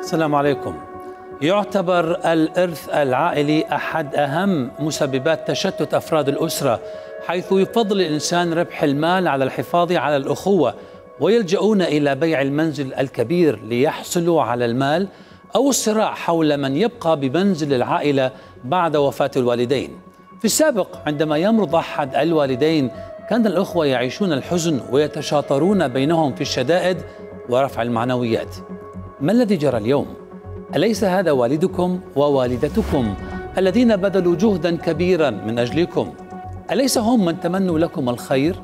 السلام عليكم. يعتبر الإرث العائلي أحد أهم مسببات تشتت أفراد الأسرة، حيث يفضل الإنسان ربح المال على الحفاظ على الأخوة، ويلجؤون إلى بيع المنزل الكبير ليحصلوا على المال، أو الصراع حول من يبقى بمنزل العائلة بعد وفاة الوالدين. في السابق عندما يمرض أحد الوالدين كان الأخوة يعيشون الحزن ويتشاطرون بينهم في الشدائد ورفع المعنويات. ما الذي جرى اليوم؟ أليس هذا والدكم ووالدتكم الذين بذلوا جهدا كبيرا من أجلكم؟ أليس هم من تمنوا لكم الخير؟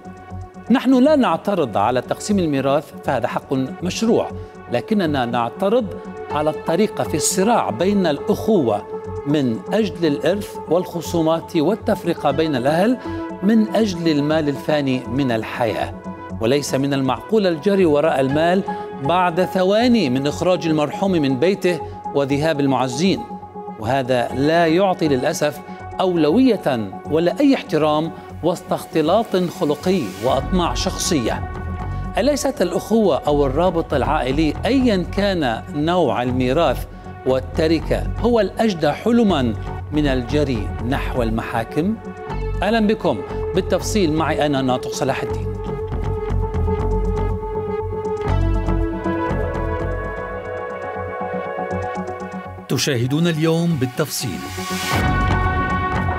نحن لا نعترض على تقسيم الميراث، فهذا حق مشروع، لكننا نعترض على الطريقة في الصراع بين الأخوة من أجل الإرث والخصومات والتفرقة بين الأهل من أجل المال الفاني من الحياة. وليس من المعقول الجري وراء المال بعد ثواني من إخراج المرحوم من بيته وذهاب المعزين، وهذا لا يعطي للأسف أولوية ولا أي احترام وسط اختلاط خلقي وأطماع شخصية. أليست الأخوة أو الرابط العائلي أيا كان نوع الميراث والتركة هو الأجدى حلما من الجري نحو المحاكم؟ أهلا بكم بالتفصيل معي أنا ناطق صلاح الدين. تشاهدون اليوم بالتفصيل.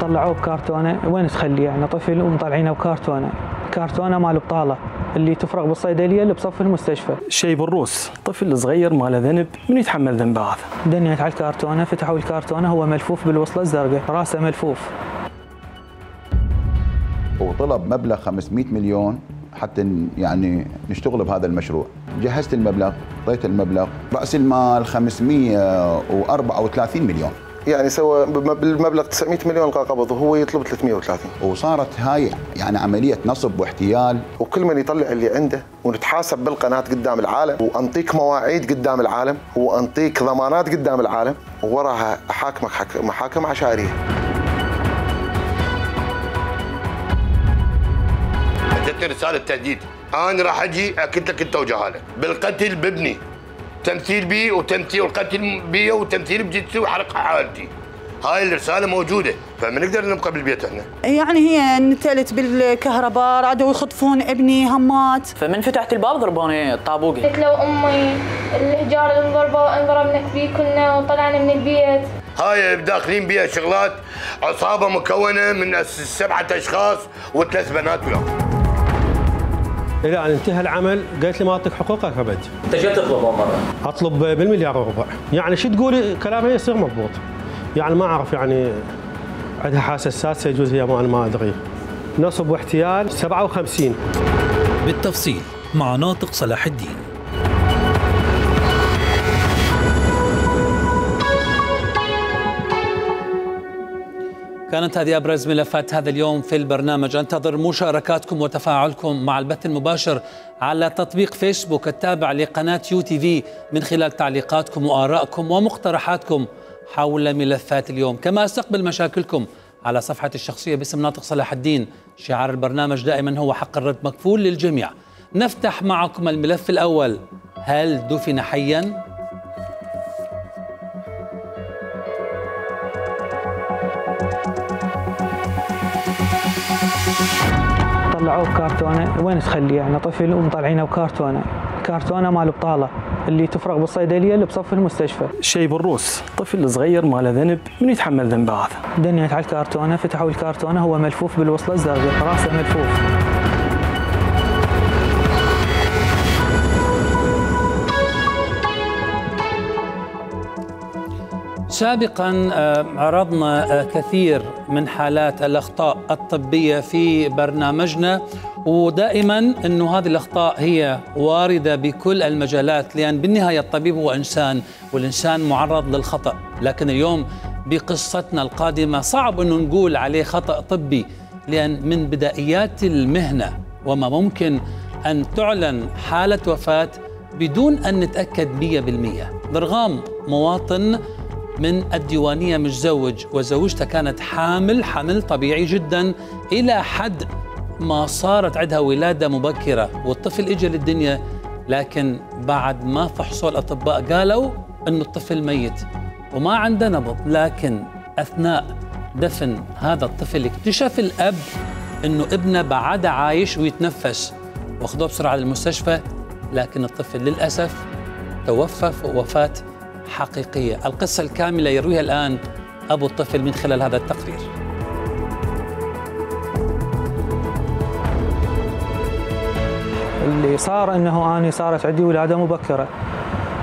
طلعوه بكرتونه، وين تخليه يعني طفل ومطلعينه بكرتونه، كرتونه مال بطاله اللي تفرغ بالصيدليه اللي بصف المستشفى. شيء بالروس، طفل صغير ما له ذنب، من يتحمل ذنبه هذا؟ دنيت على الكرتونه، فتحوا الكرتونه، هو ملفوف بالوصله الزرقاء، راسه ملفوف. وطلب مبلغ 500 مليون حتى يعني نشتغل بهذا المشروع. جهزت المبلغ، اعطيت المبلغ، راس المال 534 مليون، يعني سوى بالمبلغ 900 مليون قبض وهو يطلب 330. وصارت هاي يعني عمليه نصب واحتيال، وكل من يطلع اللي عنده، ونتحاسب بالقناه قدام العالم، وانطيك مواعيد قدام العالم، وانطيك ضمانات قدام العالم، ووراها احاكمك محاكم عشائريه. جتني رساله تهديد، انا راح اجي اكد لك انت وجهاله بالقتل بابني، تمثيل بي وتمثيل والقتل بي وتمثيل بجدتي وحرق حالتي. هاي الرساله موجوده، فما نقدر نبقى بالبيت احنا. يعني هي نتلت بالكهرباء، رادوا يخطفون ابني همات، فمن فتحت الباب ضربوني طابوقي. قلت له امي الحجار اللي انضربنا فيه كنا وطلعنا من البيت. هاي داخلين بيها شغلات، عصابه مكونه من 7 اشخاص و3 بنات وياهم. إلى أن انتهى العمل قالت لي ما أعطيك حقوقك أبد. أنت شو تطلب مرة؟ أطلب بالمليار وربع، يعني شو تقولي كلامها يصير مضبوط، يعني ما أعرف يعني عندها حاسة سادسة يجوز هي ما أدري. نصب واحتيال 57. بالتفصيل مع ناطق صلاح الدين. كانت هذه أبرز ملفات هذا اليوم في البرنامج. أنتظر مشاركاتكم وتفاعلكم مع البث المباشر على تطبيق فيسبوك التابع لقناة UTV من خلال تعليقاتكم وآرائكم ومقترحاتكم حول ملفات اليوم. كما أستقبل مشاكلكم على صفحتي الشخصية باسم ناطق صلاح الدين. شعار البرنامج دائما هو حق الرد مكفول للجميع. نفتح معكم الملف الأول. هل دفن حيا؟ طلعوه بكرتونه، وين تخليه يعني طفل ومطلعينه بكرتونه، كرتونه مال بطاله اللي تفرغ بالصيدليه اللي بصف المستشفى. شيء بالروس، طفل صغير ما له ذنب، من يتحمل ذنبه هذا؟ دنيت على الكرتونه، فتحوا الكرتونه، هو ملفوف بالوصله الزرقاء، راسه ملفوف. سابقا عرضنا كثير من حالات الأخطاء الطبية في برنامجنا، ودائما أنه هذه الأخطاء هي واردة بكل المجالات، لأن بالنهاية الطبيب هو إنسان، والإنسان معرض للخطأ. لكن اليوم بقصتنا القادمة صعب أنه نقول عليه خطأ طبي، لأن من بدائيات المهنة وما ممكن أن تعلن حالة وفاة بدون أن نتأكد 100%. ضرغام مواطن من الديوانية متزوج، وزوجته كانت حمل طبيعي جدا إلى حد ما صارت عندها ولادة مبكرة والطفل إجا للدنيا، لكن بعد ما فحصوا الأطباء قالوا أنه الطفل ميت وما عنده نبض. لكن أثناء دفن هذا الطفل اكتشف الأب أنه ابنه بعد عايش ويتنفس، واخذوه بسرعة للمستشفى، لكن الطفل للأسف توفى وفاة حقيقية. القصة الكاملة يرويها الآن أبو الطفل من خلال هذا التقرير. اللي صار أنه أنا صارت عندي ولادة مبكرة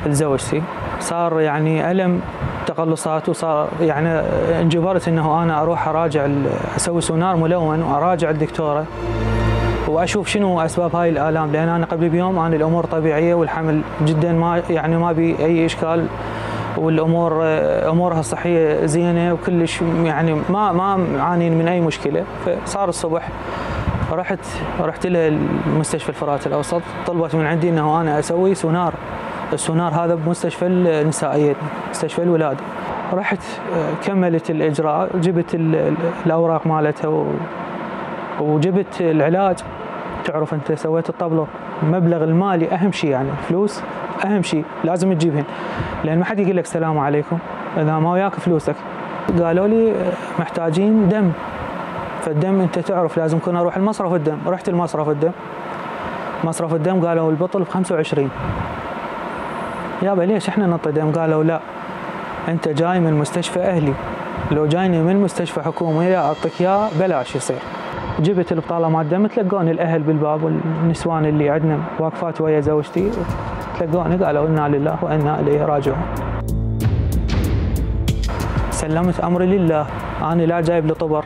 لزوجتي، صار يعني ألم تقلصات، وصار يعني انجبرت أنه أنا أروح أراجع أسوي سونار ملون وأراجع الدكتورة وأشوف شنو أسباب هاي الآلام، لأن أنا قبل بيوم أنا الأمور طبيعية والحمل جدا ما بي أي إشكال، والأمور أمورها الصحية زينة وكلش، يعني ما عانين من أي مشكلة. فصار الصبح رحت لها المستشفى الفرات الأوسط، طلبت من عندي أنه أنا أسوي سونار. السونار هذا بمستشفى النسائية، مستشفى الولادة. رحت كملت الإجراء، جبت الأوراق مالتها وجبت العلاج. تعرف أنت سويت الطبلة، المبلغ المالي أهم شيء، يعني فلوس أهم شيء لازم تجيبهن، لأن ما حد يقول لك السلام عليكم إذا ما وياك فلوسك. قالوا لي محتاجين دم، فالدم أنت تعرف لازم كنا أروح المصرف الدم. رحت المصرف الدم، مصرف الدم قالوا البطل ب25. يابا ليش احنا نعطي دم؟ قالوا لا، أنت جاي من مستشفى أهلي، لو جايني من مستشفى حكومي أعطيك إياه بلاش يصير. جبت البطالة مال الدم، تلقوني الأهل بالباب والنسوان اللي عندنا واقفات ويا زوجتي، تلقوني قالوا إنا لله وإنا إليه راجعون. سلمت أمري لله، أنا لا جايب لطبر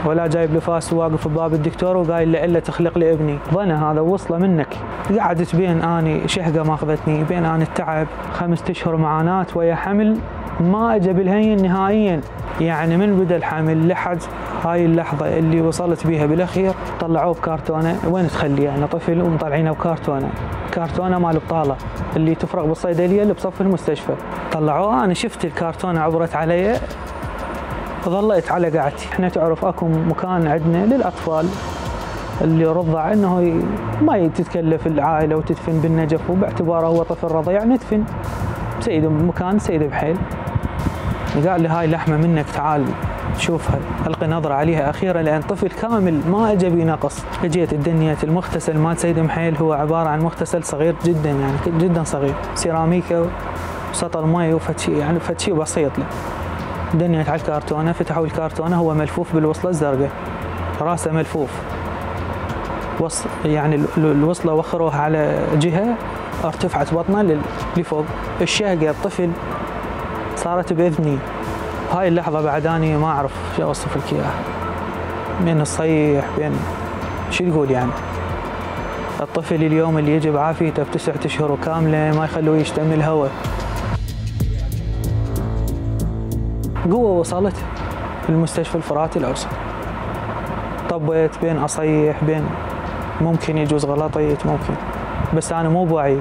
ولا جايب لفاس، واقف بباب الدكتور وقايل له إلا تخلق لي ابني. ظنى هذا وصله منك. قعدت بين أني شهقة ما أخذتني، بين أني التعب، 5 أشهر معاناة ويا حمل ما أجى بالهين نهائيا. يعني من بدأ الحمل لحد هاي اللحظة اللي وصلت بيها بالأخير طلعوه بكارتونة. وين تخلي يعني طفل ومطلعينه بكارتونة، كارتونة مال بطالة اللي تفرغ بالصيدلية اللي بصف المستشفى. طلعوه، أنا شفت الكارتونة عبرت علي، ظليت على قعدتي. احنا تعرف اكو مكان عندنا للأطفال اللي رضع انه ما تتكلف العائلة وتدفن بالنجف، وباعتباره هو طفل رضيع ندفن سيد مكان سيد بحيل. قال لي هاي لحمة منك، تعال شوفها، ألقي نظرة عليها أخيرا، لأن طفل كامل ما أجى بنقص. اجيت الدنيا المغتسل مال سيد محيل هو عبارة عن مغتسل صغير جدا، يعني جدا صغير، سيراميكا وسطل مي وفتشي، يعني فتشي بسيط له. دنيت على الكارتونة، فتحوا الكارتونة، هو ملفوف بالوصلة الزرقاء، راسه ملفوف، يعني الوصلة وخروها على جهة، ارتفعت بطنه لفوق. الشهقة الطفل صارت بإذني. هاي اللحظة بعد أنا ما أعرف شو أوصف لك إياها، بين الصيح بين شو تقول يعني. الطفل اليوم اللي يجي بعافيته ب9 أشهر كاملة ما يخلوه يشتم الهواء. قوة وصلت المستشفى الفرات الأوسط، طبيت بين أصيح بين ممكن يجوز غلطيت ممكن، بس أنا مو بوعي.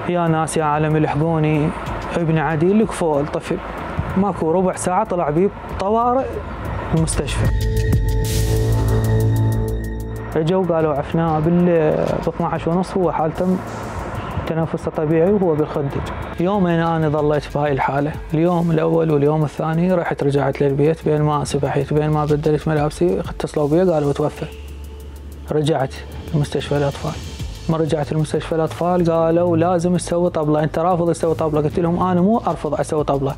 يا ناس يا عالم الحقوني، ابن عديل لكفوه الطفل، ماكو ربع ساعة طلع بيه طوارئ المستشفى. اجوا قالوا عفناه ب12:30، هو حالته تنفسه طبيعي وهو بالخدج. يومين أنا ظليت بهاي الحالة، اليوم الأول واليوم الثاني رحت رجعت للبيت، بين ما سبحت بين ما بدلت ملابسي اتصلوا بي قالوا توفى. رجعت لمستشفى الأطفال، ما رجعت لمستشفى الأطفال قالوا لازم تسوي طبلة، أنت رافض تسوي طبلة. قلت لهم أنا مو أرفض أسوي طبلة،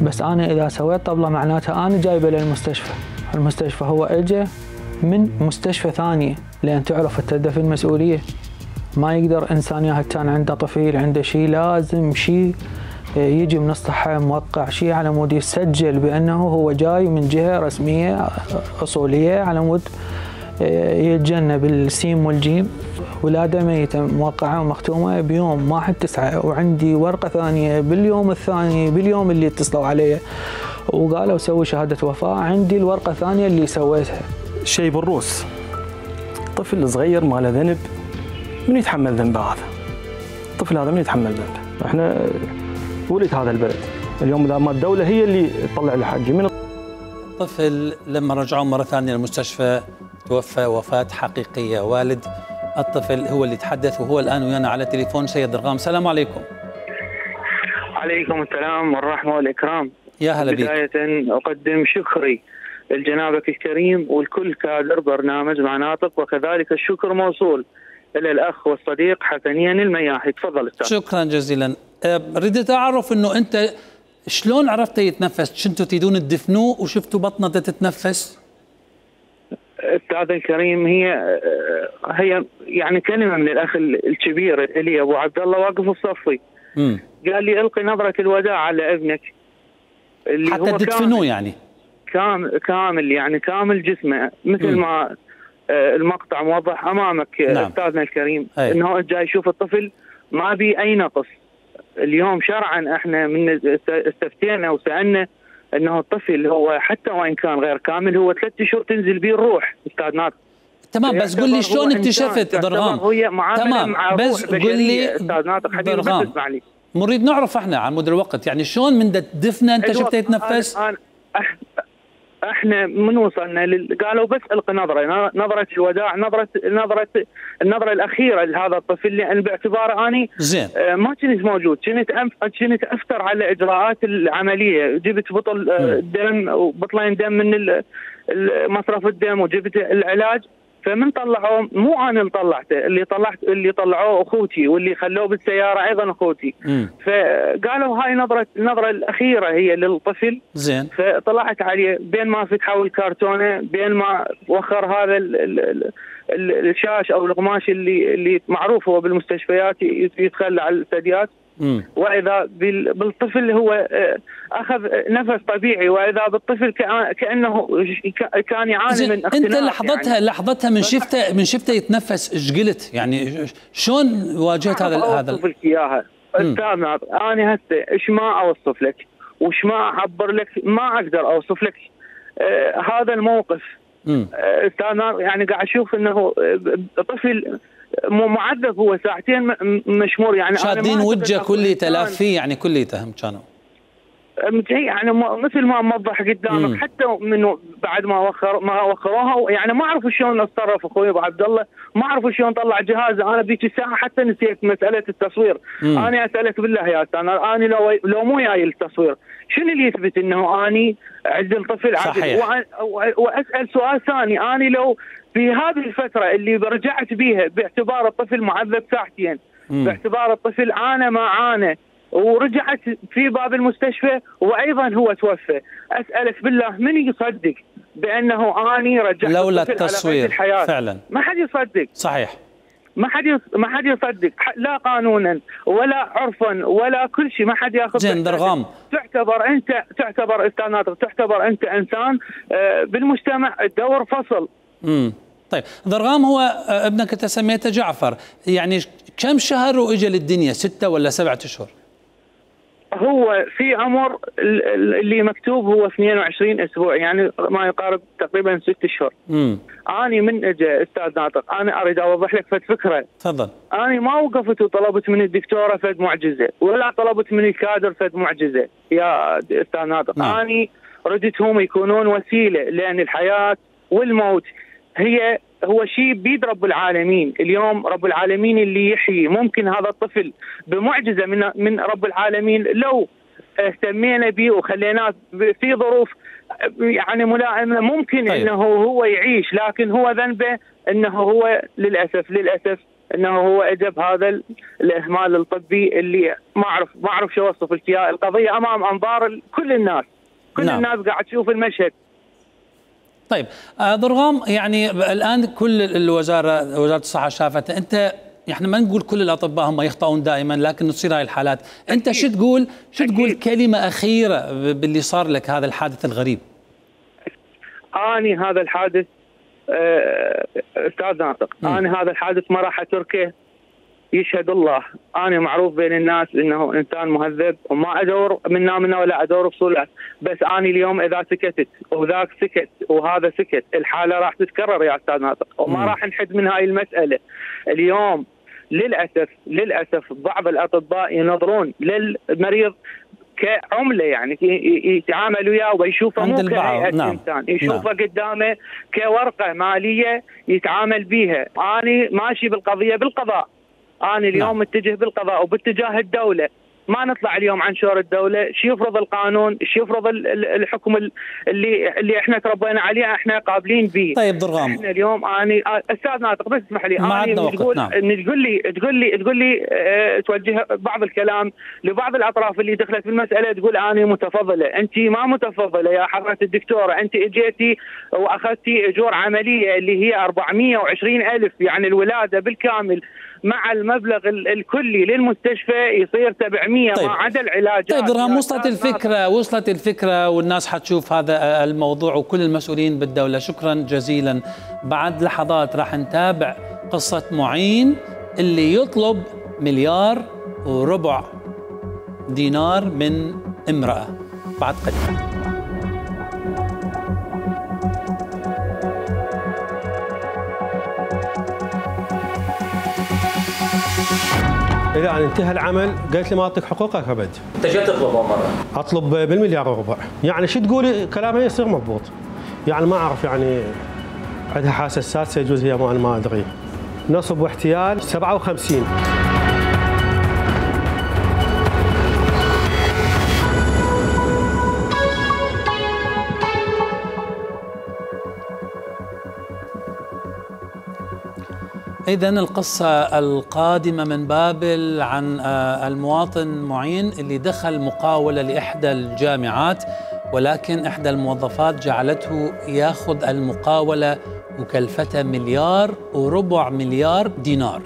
بس أنا إذا سويت طبلة معناتها أنا جايبة للمستشفى. المستشفى هو إجا من مستشفى ثانية، لأن تعرف التدفن مسؤولية، ما يقدر إنسان ياهل كان عنده طفل عنده شيء، لازم شيء يجي من الصحة موقع، شيء على مود يسجل بأنه هو جاي من جهة رسمية أصولية، على مود يتجنب السين والجيم. ولادة ميتة موقعة ومختومة بيوم 1/9، وعندي ورقة ثانية باليوم الثاني باليوم اللي اتصلوا علي وقالوا سوي شهادة وفاة، عندي الورقة الثانية اللي سويتها. شيء بالروس، طفل صغير ما له ذنب، من يتحمل ذنبه هذا؟ الطفل هذا من يتحمل ذنبه؟ احنا ولد هذا البلد، اليوم اذا ما الدولة هي اللي تطلع له حقي. من الطفل لما رجعوه مرة ثانية للمستشفى توفى وفاة حقيقية. والد الطفل هو اللي تحدث وهو الآن ويانا على تليفون. سيد درغام، السلام عليكم. عليكم السلام والرحمة والإكرام. يا هلا بك. بداية أقدم شكري لجنابك الكريم والكل كادر برنامج مناطق، وكذلك الشكر موصول إلى الأخ والصديق حسنين المياحي. تفضل أستاذ. شكرا جزيلا. ردت أعرف أنه أنت شلون عرفت يتنفس؟ شنتوا تريدون تدفنوه وشفتوا بطنه تتنفس؟ أستاذ الكريم، هي يعني كلمة من الأخ الكبير إلي أبو عبد الله واقف الصفي. قال لي ألقي نظرة الوداع على ابنك اللي حتى هو تدفنوه، يعني كامل يعني كامل جسمه، مثل ما المقطع موضح أمامك. نعم. أستاذنا الكريم، أنه جاي يشوف الطفل ما بي أي نقص. اليوم شرعا احنا من استفتينا وسألنا انه الطفل هو حتى وان كان غير كامل هو 3 اشهر تنزل به الروح. استاذ ناصر تمام، بس قل لي شلون اكتشفت درغام؟ تمام، بس قل لي استاذ ناصر حبيبي، بس اسمع لي، نريد نعرف احنا على مدى الوقت يعني شلون من دفنه انت شفته يتنفس؟ احنا من وصلنا قالوا بس القي نظره الوداع، النظره الاخيره لهذا الطفل، لان باعتباره اني زين ما كنت موجود، كنت افتر على اجراءات العمليه، جبت بطل دم وبطلين دم من مصرف الدم وجبت العلاج. فمن طلعوه مو انا اللي طلعته، اللي طلعوه اخوتي، واللي خلوه بالسياره ايضا اخوتي. فقالوا هاي النظره الاخيره هي للطفل. زين. فطلعت عليه بين ما فتحوا الكرتونه، بين ما وخر هذا الشاش او القماش اللي معروف هو بالمستشفيات يتخلى على الثدييات. واذا بالطفل هو اخذ نفس طبيعي، واذا بالطفل كانه كان يعاني من اختناق. انت لحظتها من شفته يتنفس ايش قلت؟ يعني شلون واجهت هذا اوصف لك اياها استاذ ناصر؟ انا هسه ايش ما اوصف لك وش ما اعبر لك، ما اقدر اوصف لك هذا الموقف. استاذ ناصر يعني قاعد اشوف انه طفل معذب، هو ساعتين مشمور، يعني شادين وجهه كله تلاف فيه، يعني كليته كانوا يعني مثل ما موضح قدامك. حتى منه بعد ما وخروها يعني ما اعرف شلون اتصرف اخوي ابو عبد الله، ما اعرف شلون طلع جهازه. انا بذيك الساعه حتى نسيت مساله التصوير. انا اسالك بالله يا استاذ، انا لو مو جاي التصوير شنو اللي يثبت انه اني عدل طفل عدل؟ واسال سؤال ثاني، انا لو في هذه الفتره اللي رجعت بيها باعتبار الطفل معذب ساعتين، باعتبار الطفل عانى ما عانى، ورجعت في باب المستشفى وايضا هو توفى، اسالك بالله من يصدق بانه اني رجعت لولا التصوير فعلا؟ ما حد يصدق. صحيح، ما حد يصدق، لا قانونا ولا عرفا ولا كل شيء، ما حد ياخذ. زين درغام، تعتبر استاذ ناصر، تعتبر انت انسان بالمجتمع، الدور فصل. طيب درغام، هو ابنك انت سميته جعفر، يعني كم شهر واجى للدنيا؟ 6 ولا 7 اشهر؟ هو في عمر اللي مكتوب هو 22 اسبوع، يعني ما يقارب تقريبا 6 اشهر. اني من اجى استاذ ناطق، انا اريد اوضح لك فد فكره. تفضل. اني ما وقفت وطلبت من الدكتوره فد معجزه، ولا طلبت من الكادر فد معجزه يا استاذ ناطق. اني ردتهم يكونون وسيله، لان الحياه والموت هو شيء بيد رب العالمين. اليوم رب العالمين اللي يحيي. ممكن هذا الطفل بمعجزه من رب العالمين لو اهتمينا به وخليناه في ظروف يعني ملائمه، ممكن انه هو يعيش، لكن هو ذنبه انه هو للاسف انه هو اجى بهذا الاهمال الطبي اللي ما اعرف شو اوصف لك اياه. القضيه امام انظار كل الناس، الناس قاعد تشوف المشهد. طيب درغام، يعني الان كل وزاره الصحه شافت، انت احنا ما نقول كل الاطباء هم يخطئون دائما، لكن تصير هاي الحالات. انت شو تقول كلمه اخيره باللي صار لك، هذا الحادث الغريب؟ اني هذا الحادث استاذ ناطق، انا هذا الحادث ما راح اتركه، يشهد الله. انا معروف بين الناس انه انسان مهذب وما ادور منه ولا ادور بصوله، بس انا اليوم اذا سكتت وذاك سكت وهذا سكت الحاله راح تتكرر يا استاذ ناطق، وما راح نحد من هاي المساله. اليوم للاسف بعض الاطباء ينظرون للمريض كعمله، يعني يتعامل وياه ويشوفه مو كهيئه انسان، يشوفه قدامه كورقه ماليه يتعامل بيها. انا ماشي بالقضيه بالقضاء، انا اليوم متجه بالقضاء وباتجاه الدوله، ما نطلع اليوم عن شور الدوله، شو يفرض القانون، شو يفرض الحكم اللي احنا تربينا عليه، احنا قابلين به. طيب ضرغام، احنا اليوم انا استاذ ناطق بس اسمح لي، انا تقول لي توجه بعض الكلام لبعض الاطراف اللي دخلت في المساله، تقول انا متفضله، انت ما متفضله يا حضره الدكتوره، انت اجيتي واخذتي اجور عمليه اللي هي 420,000 يعني الولاده بالكامل مع المبلغ الكلي للمستشفى يصير 700. طيب. ما عدا العلاجات. طيب درهم، وصلت الفكرة والناس حتشوف هذا الموضوع وكل المسؤولين بالدولة. شكرا جزيلا. بعد لحظات راح نتابع قصة معين اللي يطلب 1.25 دينار من امرأة بعد قليل. إذا انتهى العمل قالت لي ما أعطيك حقوقك أبد. أنت جاي تطلبه مرة؟ أطلب ب1.25 مليار. يعني شو تقولي كلامها يصير مضبوط. يعني ما أعرف، يعني عندها حاسة سادسة يجوز هي، ما أدري. نصب واحتيال 57. إذن القصة القادمة من بابل عن المواطن معين اللي دخل مقاولة لإحدى الجامعات، ولكن إحدى الموظفات جعلته يأخذ المقاولة وكلفتها 1.25 مليار دينار.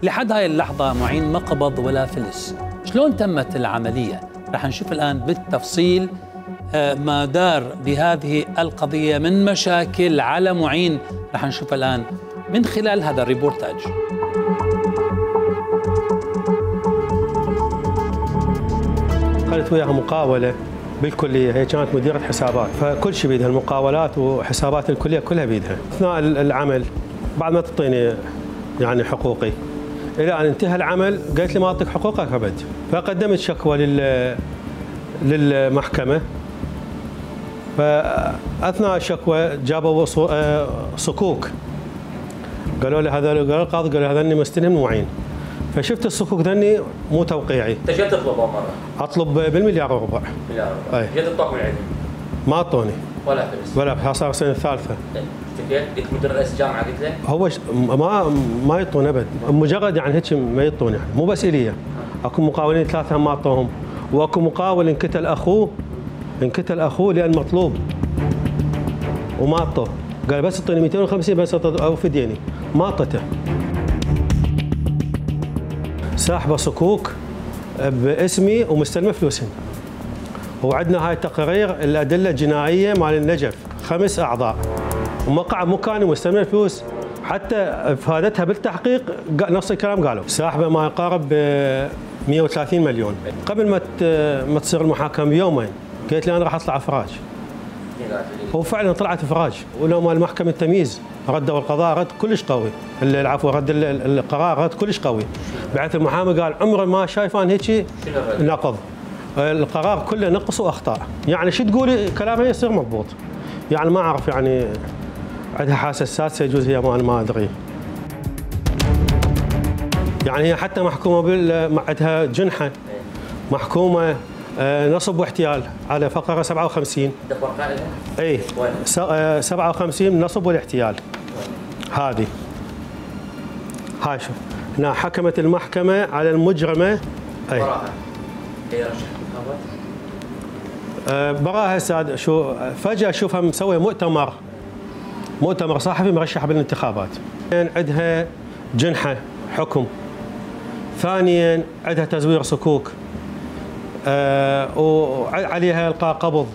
لحد هاي اللحظة معين ما قبض ولا فلس. شلون تمت العملية؟ رح نشوف الآن بالتفصيل ما دار بهذه القضية من مشاكل على معين، رح نشوف الآن من خلال هذا الريبورتاج. قالت وياها مقاولة بالكلية، هي كانت مديرة حسابات، فكل شيء بيدها، المقاولات وحسابات الكلية كلها بيدها. أثناء العمل بعد ما تعطيني يعني حقوقي، إلى أن انتهى العمل قالت لي ما أعطيك حقوقك أبد. فقدمت شكوى للمحكمة، فأثناء الشكوى جابوا صكوك، قالوا لي هذا، قال القاضي قال هذا اني مستلم معين. فشفت الصكوك ذني مو توقيعي. انت جاي تطلبه مره؟ اطلب ب1.25 مليار. اي جاي تطلب من عندي؟ ما اعطوني ولا فلس ولا. صار السنه الثالثه. قلت مدير رئيس الجامعه قلت له؟ هو ما يعطون ابد، مجرد يعني هيك ما يعطون، يعني مو بس الي، اكو مقاولين 3 ما اعطوهم، واكو مقاول انقتل اخوه لان مطلوب وما اعطوه، قال بس اعطيني 250 بس اوفي ديني، ما اعطته. ساحبه صكوك باسمي ومستلمه فلوسهم. وعندنا هاي تقارير الادله الجنائيه مال النجف 5 اعضاء، ومقع مكاني ومستلمه الفلوس، حتى افادتها بالتحقيق نفس الكلام قالوا. ساحبه ما يقارب 130 مليون. قبل ما تصير المحاكمه بيومين قالت لي انا راح اطلع افراج. وفعلا طلعت افراج، ولو مال محكمه التمييز ردوا القضاء رد كلش قوي، العفو رد القرار رد كلش قوي، بعث المحامي قال عمره ما شايفان هيك نقض، القرار كله نقص واخطاء. يعني شو تقولي كلامها يصير مضبوط. يعني ما اعرف، يعني عندها حاسه سادسه يجوز هي، ما ادري. يعني هي حتى محكومه عندها جنحه، محكومه نصب واحتيال على فقره 57. اي 57 نصب والاحتيال. هذه هاي شوف هنا حكمت المحكمه على المجرمه. اي براها ساد. شو فجاه اشوفها مسويه مؤتمر صحفي مرشحه بالانتخابات. عندها جنحه حكم، ثانيا عندها تزوير صكوك، وعليها إلقاء قبض،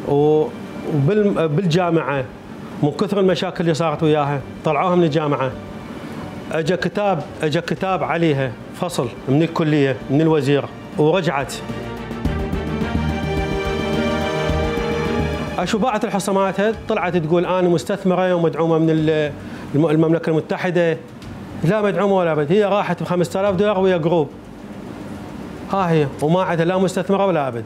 وبالجامعة من كثر المشاكل اللي صارت وياها طلعوها من الجامعه. اجى كتاب عليها فصل من الكليه من الوزير ورجعت. اشوف باعت الحصه مالتها طلعت تقول انا مستثمره ومدعومه من المملكه المتحده. لا مدعومه ولا بد، هي راحت ب $5000 ويا جروب. ها هي وما عندها لا مستثمره ولا ابد.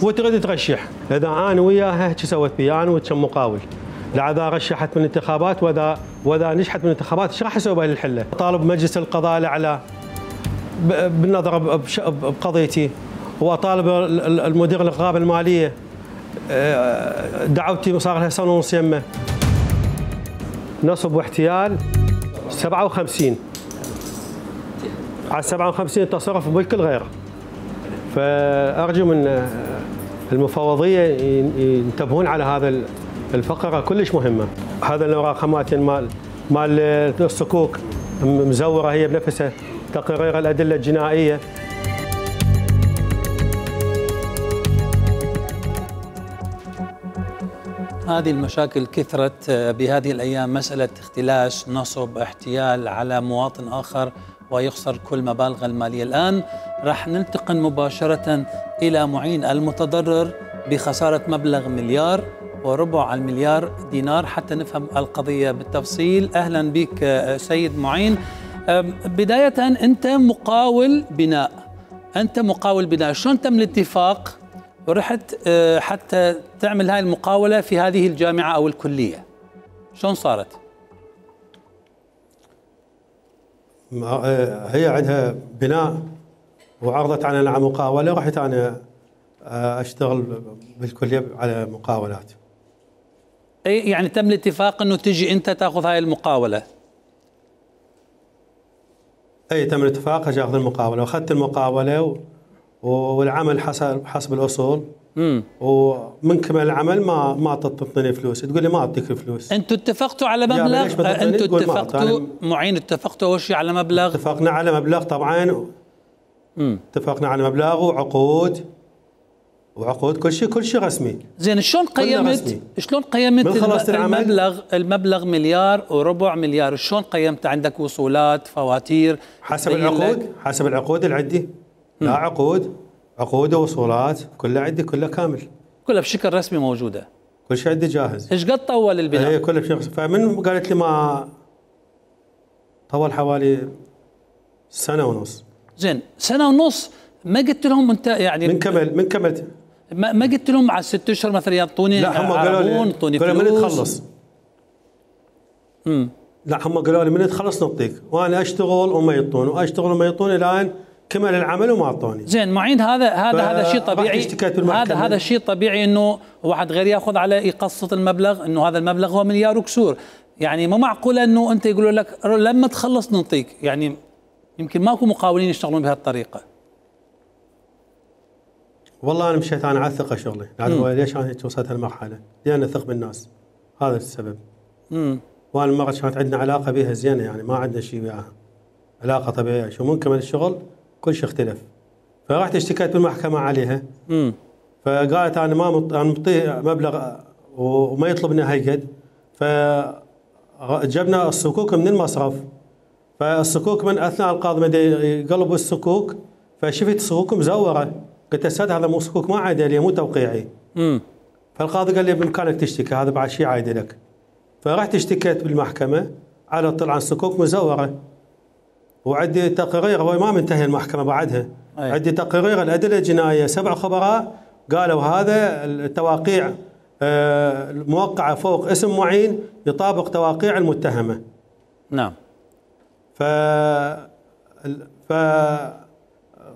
وتريد ترشح. اذا انا وياها شو سويت بي انا وكم مقاول؟ لا اذا رشحت من الانتخابات واذا نجحت من الانتخابات ايش راح اسوي بهذه الحله؟ طالب مجلس القضاء الاعلى بالنظر بقضيتي، واطالب المدير الرقابه الماليه. دعوتي صار لها سنه ونص يمه. نصب واحتيال 57 على 57 تصرف بملك الغير. فارجو من المفوضيه ينتبهون على هذا الفقره كلش مهمه. هذا الاوراق خماتين مال الصكوك مزوره هي بنفسها، تقرير الادله الجنائيه. هذه المشاكل كثرت بهذه الأيام، مسألة اختلاس، نصب، احتيال على مواطن آخر ويخسر كل مبالغ المالية. الآن راح ننتقل مباشرة إلى معين المتضرر بخسارة مبلغ $1.25 مليار حتى نفهم القضية بالتفصيل. أهلا بك سيد معين. بداية أنت مقاول بناء، شلون تم الاتفاق ورحت حتى تعمل هاي المقاولة في هذه الجامعة أو الكلية؟ شلون صارت؟ هي عندها بناء وعرضت علينا على مقاولة، ورحت أنا أشتغل بالكلية على مقاولات. أي يعني تم الاتفاق أنه تجي أنت تأخذ هاي المقاولة؟ أي تم الاتفاق أجي أخذ المقاولة، وأخذت المقاولة والعمل حسب الأصول. ومن كمل العمل ما تعطيني فلوس، تقول لي ما أعطيك فلوس. أنتوا اتفقتوا على مبلغ؟ أنتوا اتفقتوا معين، اتفقتوا أول شيء على مبلغ؟ اتفقنا على مبلغ طبعا. اتفقنا على مبلغ وعقود كل شيء رسمي. زين شلون قيمت المبلغ $1.25 مليار؟ شلون قيمت؟ عندك وصولات، فواتير؟ حسب العقود اللي عندي. لا عقود ووصولات كلها عندي، كلها كامل، كلها بشكل رسمي موجوده، كل شيء عندي جاهز. ايش قد طول البناء؟ هي كلها بشكل. فمن قالت لي ما طول حوالي 1.5 سنة. زين 1.5 سنة ما قلت لهم انت يعني من كملت ما قلت لهم على 6 أشهر مثلا يعطوني؟ لا هم قالوا لي من تخلص. لا هم قالوا لي من تخلص نعطيك، وانا اشتغل وما يعطون واشتغل وما يعطون الان كمل العمل وما اعطوني. زين معين هذا شيء طبيعي. هذا شيء طبيعي انه واحد غير ياخذ على يقسط المبلغ، انه هذا المبلغ هو مليار وكسور. يعني ما معقوله انه انت يقولوا لك لما تخلص نعطيك. يعني يمكن ماكو مقاولين يشتغلون بهالطريقه. والله انا مشيت على الثقه شغلي، ليش انا وصلت هالمرحله؟ لان اثق بالناس، هذا السبب. وانا المره كانت عندنا علاقه بها زينه، يعني ما عندنا شيء وياها، علاقه طبيعيه. شو ممكن الشغل كل شيء اختلف. فرحت اشتكيت بالمحكمه عليها. فقالت انا انا مطيه مبلغ وما يطلبنا هالقد. فجبنا الصكوك من المصرف. فالصكوك من اثناء القاضي بدا يقلبوا الصكوك، فشفت الصكوك مزوره. قلت استاذ هذا مو صكوك، ما عادي لي، مو توقيعي. فالقاضي قال لي بامكانك تشتكي، هذا بعد شيء عادي لك. فرحت اشتكيت بالمحكمه على طلع الصكوك مزوره. وعندي تقرير، هو ما منتهي المحكمه بعدها. عندي تقرير الادله الجنائيه، 7 خبراء قالوا هذا التواقيع الموقعه فوق اسم معين يطابق تواقيع المتهمه. نعم.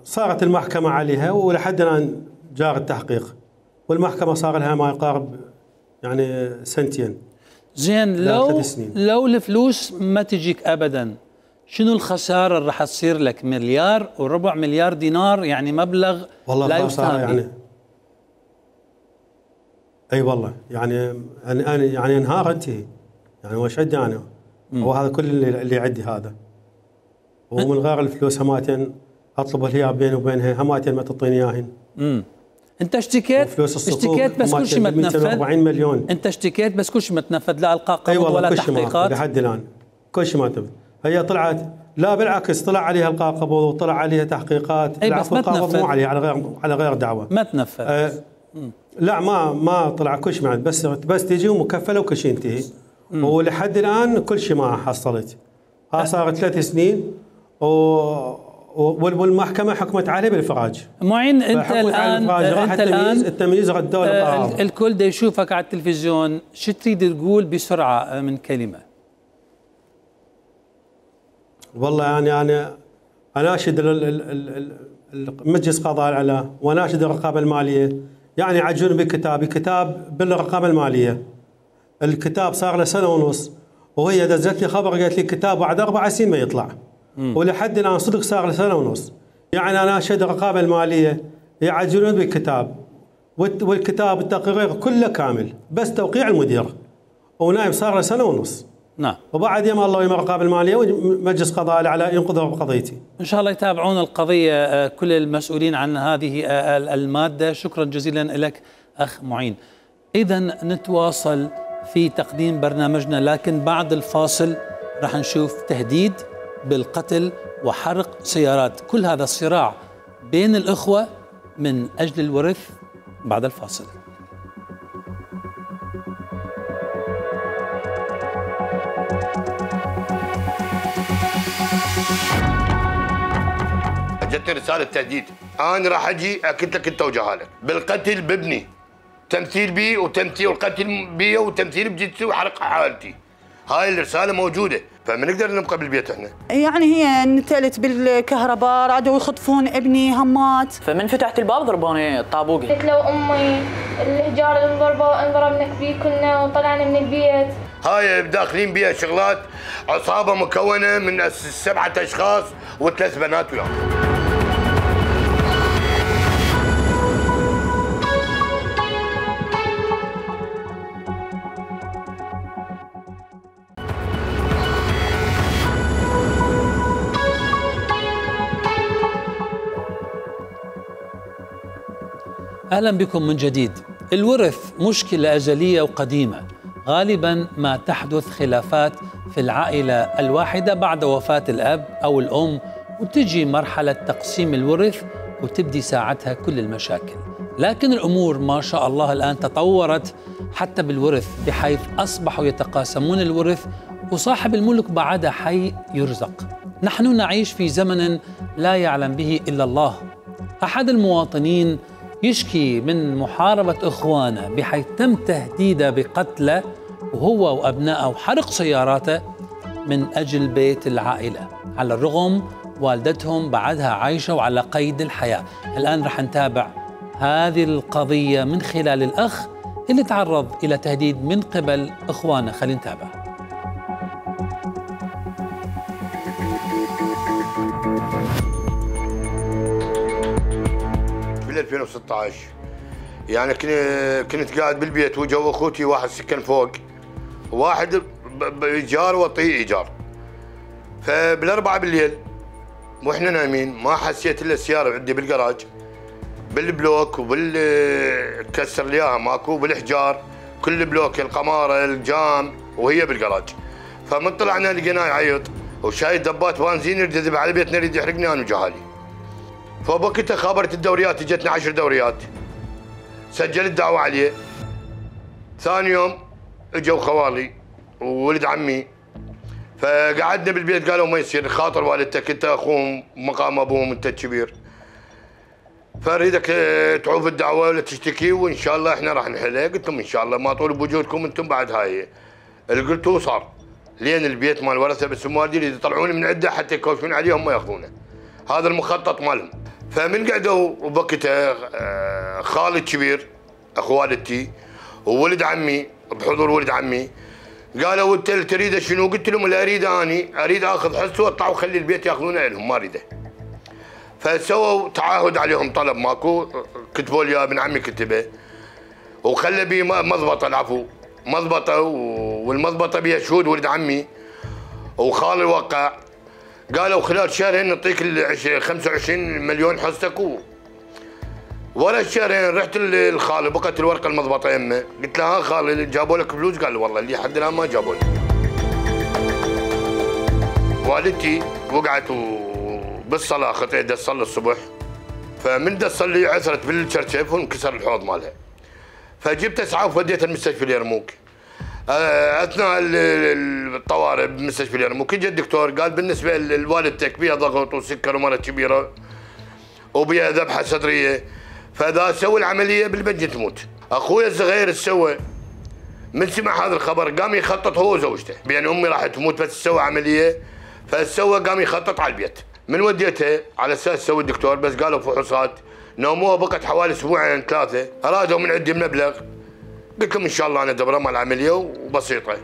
صارت المحكمه عليها، ولحد الان جار التحقيق، والمحكمه صار لها ما يقارب يعني 2 سنين. زين لو الفلوس ما تجيك ابدا، شنو الخساره اللي راح تصير لك؟ $1.25 مليار، يعني مبلغ والله لا يستهان يعني. اي والله يعني انا يعني انهار انتهي. يعني وش عندي انا؟ هو هذا كل اللي عندي هذا. ومن غير الفلوس هماتين اطلب هي بيني وبينها، هماتين ما تعطيني اياهن. انت اشتكيت بس كل شيء ما تنفذ. 240 مليون. انت اشتكيت بس كل شيء ما تنفذ، لا القاء قبض ولا تحقيقات لحد الان كل شيء ما تنفذ. هي طلعت، لا بالعكس طلع عليها القاء قبض وطلع عليها تحقيقات. بس ما تنفذ. مو عليها على غير دعوه ما تنفذ. لا ما طلع كل شيء، بس تجي ومكفله وكل شيء ينتهي. ولحد الان كل شيء ما حصلت. صارت 3 سنين والمحكمه حكمت عليه بالافراج. معين انت الان التمييز ردوا له. الكل دا يشوفك على التلفزيون، شو تريد تقول بسرعه من كلمه؟ والله يعني انا اناشد مجلس قضاء الاعلى واناشد الرقابه الماليه، يعني يعجلون بكتاب بالرقابه الماليه. الكتاب صار له سنه ونص، وهي دزت لي خبر قالت لي كتاب بعد 4 سنين ما يطلع. ولحد الان صدق صار له سنه ونص. يعني انا اناشد الرقابه الماليه يعجلون بالكتاب، والكتاب التقرير كله كامل بس توقيع المدير، ونايم صار له سنه ونص. نعم. وبعد يم الله ويم الرقابه الماليه ومجلس قضاء الاعلى ينقذوا بقضيتي. ان شاء الله يتابعون القضيه كل المسؤولين عن هذه الماده. شكرا جزيلا لك اخ معين. اذا نتواصل في تقديم برنامجنا، لكن بعد الفاصل راح نشوف تهديد بالقتل وحرق سيارات، كل هذا الصراع بين الأخوة من أجل الورث بعد الفاصل. جتني رسالة تهديد، أنا راح أجي أكد لك أنت وجهالك بالقتل بابني، تمثيل بي وتمثيل القتل بي وتمثيل بجدتي وحرق حالتي. هاي الرسالة موجودة، فما نقدر نبقى بالبيت احنا. يعني هي نتلت بالكهرباء، رادوا يخطفون ابني همات. فمن فتحت الباب ضربوني الطابوقي. قلت له امي الحجار اللي انضربنا بيه كنا وطلعنا من البيت. هاي داخلين بيها شغلات، عصابة مكونة من 7 أشخاص و3 بنات وياهم. أهلا بكم من جديد. الورث مشكلة أزلية وقديمة، غالبا ما تحدث خلافات في العائلة الواحدة بعد وفاة الأب أو الأم، وتجي مرحلة تقسيم الورث وتبدي ساعتها كل المشاكل. لكن الأمور ما شاء الله الآن تطورت حتى بالورث، بحيث أصبحوا يتقاسمون الورث وصاحب الملك بعد حي يرزق. نحن نعيش في زمن لا يعلم به إلا الله. أحد المواطنين يشكي من محاربة إخوانه، بحيث تم تهديده بقتله وهو وأبنائه وحرق سياراته من أجل بيت العائلة، على الرغم والدتهم بعدها عايشة وعلى قيد الحياة. الآن رح نتابع هذه القضية من خلال الأخ اللي تعرض إلى تهديد من قبل إخوانه. خلينا نتابع. بال 2016 يعني كنت قاعد بالبيت وجو اخوتي واحد سكن فوق، واحد بايجار واطيه ايجار. فبال4 بالليل واحنا نايمين ما حسيت الا السياره عندي بالجراج بالبلوك وبالكسر لي اياها ماكو بالحجار، كل بلوك القماره الجام وهي بالجراج. فمن طلعنا لقيناه يعيط وشايل دبات بنزين يريد يذبح على بيتنا، يريد يحرقني انا وجهالي. فبوقتها خابرت الدوريات، اجتنا 10 دوريات، سجلت دعوه عليه. ثاني يوم اجوا خوالي وولد عمي، فقعدنا بالبيت قالوا ما يصير، خاطر والدتك انت اخوهم مقام ابوهم انت الكبير، فاريدك تعوف الدعوه ولا تشتكي وان شاء الله احنا راح نحلها. قلت لهم ان شاء الله ما طول بوجودكم انتم بعد هاي. اللي قلتوه صار، لين البيت مال ورثه بالسموادي اللي يطلعوني من عنده حتى يكوشون عليهم ما ياخذونه. هذا المخطط مالهم. فمن قعدوا وبوقتها خالي الكبير اخو والدتي وولد عمي بحضور ولد عمي قالوا انت اللي تريده شنو؟ قلت لهم اللي اريده اني اريد اخذ حصه واطلع وخلي البيت ياخذونه لهم ما اريده. فسووا تعهد عليهم طلب ماكو، كتبوا لي ابن عمي كتبه وخلى بي مضبطه، العفو مضبطه، والمضبطه بيها شهود ولد عمي وخالي وقع. قالوا خلال شهرين نعطيك 25 مليون حصتك ورا الشهرين رحت للخالي بقت الورقه المضبطه يمه، قلت له ها خالي جابوا لك فلوس؟ قال لي والله اللي حد الان ما جابوا لي. والدتي وقعت بالصلاه خطيت تصلي الصبح، فمن تصلي عثرت بالشرشف وانكسر الحوض مالها. فجبت اسعاف وديتها المستشفى اليرموك. اثناء الطوارئ بمستشفى اليرموك اجى الدكتور قال بالنسبه لوالدتك بها ضغط وسكر ومرض كبيره وبها ذبحه صدريه، فاذا سوى العمليه بالبنج تموت. اخوي الصغير سوى من سمع هذا الخبر قام يخطط هو وزوجته بان امي راح تموت بس سوى عمليه، فسوى قام يخطط على البيت. من وديتها على اساس سوي الدكتور بس قالوا فحوصات نوموها بقت حوالي اسبوعين ثلاثه، ارادوا من عندي مبلغ قلت لهم ان شاء الله انا دبره مع العمليه وبسيطه.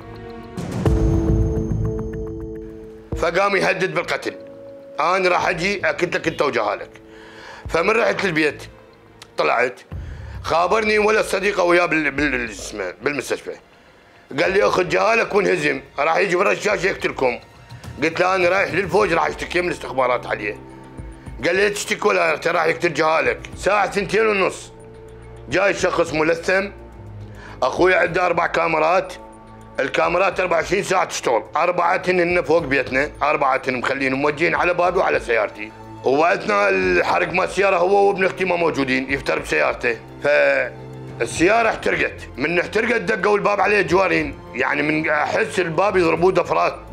فقام يهدد بالقتل، انا راح اجي اكد لك انت وجهالك. فمن رحت للبيت طلعت خابرني ولا صديقه وياه بالمستشفى، قال لي اخذ جهالك وانهزم راح يجي بالرشاش يقتلكم. قلت له انا رايح للفوج راح اشتكي من الاستخبارات عليه. قال لي لا تشتكي ولا راح يقتل جهالك. ساعه 2:30 جاي شخص ملثم، اخوي عنده 4 كاميرات، الكاميرات 24 ساعه تشتغل، 4 هن فوق بيتنا، 4 مخلينهم موجهين على بابي وعلى سيارتي. واثناء الحرق مال السياره هو وابن اختي ما موجودين يفتر بسيارته، فالسياره احترقت، من احترقت دقوا الباب عليه جوارين، يعني من احس الباب يضربوه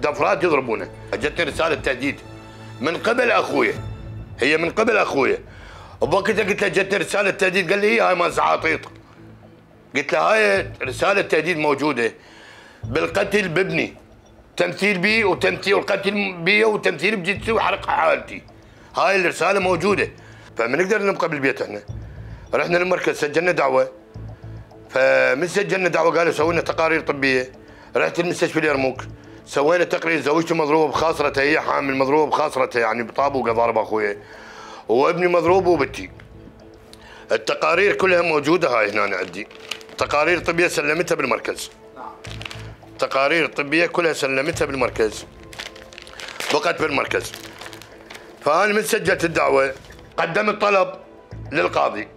دفرات يضربونه. اجتني رساله تهديد من قبل اخويا، هي من قبل اخويا، وبوقتها قلت له جتني رساله تهديد، قال لي هاي مال زعاطيط. قلت له هاي رساله تهديد موجوده بالقتل بابني، تمثيل بي وتمثيل والقتل بي وتمثيل بجثتي وحرق حالتي، هاي الرساله موجوده. فما نقدر نبقى بالبيت احنا. رحنا للمركز سجلنا دعوه، فمن سجلنا دعوه قالوا سووا لنا تقارير طبيه. رحت المستشفى اليرموك سوينا تقرير، زوجتي مضروبه بخاصرتها، هي حامل مضروبه بخاصرتها يعني بطابوقه ضارب اخويا، وابني مضروب وبنتي. التقارير كلها موجوده هاي هنا عندي، تقارير طبيه سلمتها بالمركز. تقارير طبيه كلها سلمتها بالمركز، بقت بالمركز. فانا من سجلت الدعوه قدمت طلب للقاضي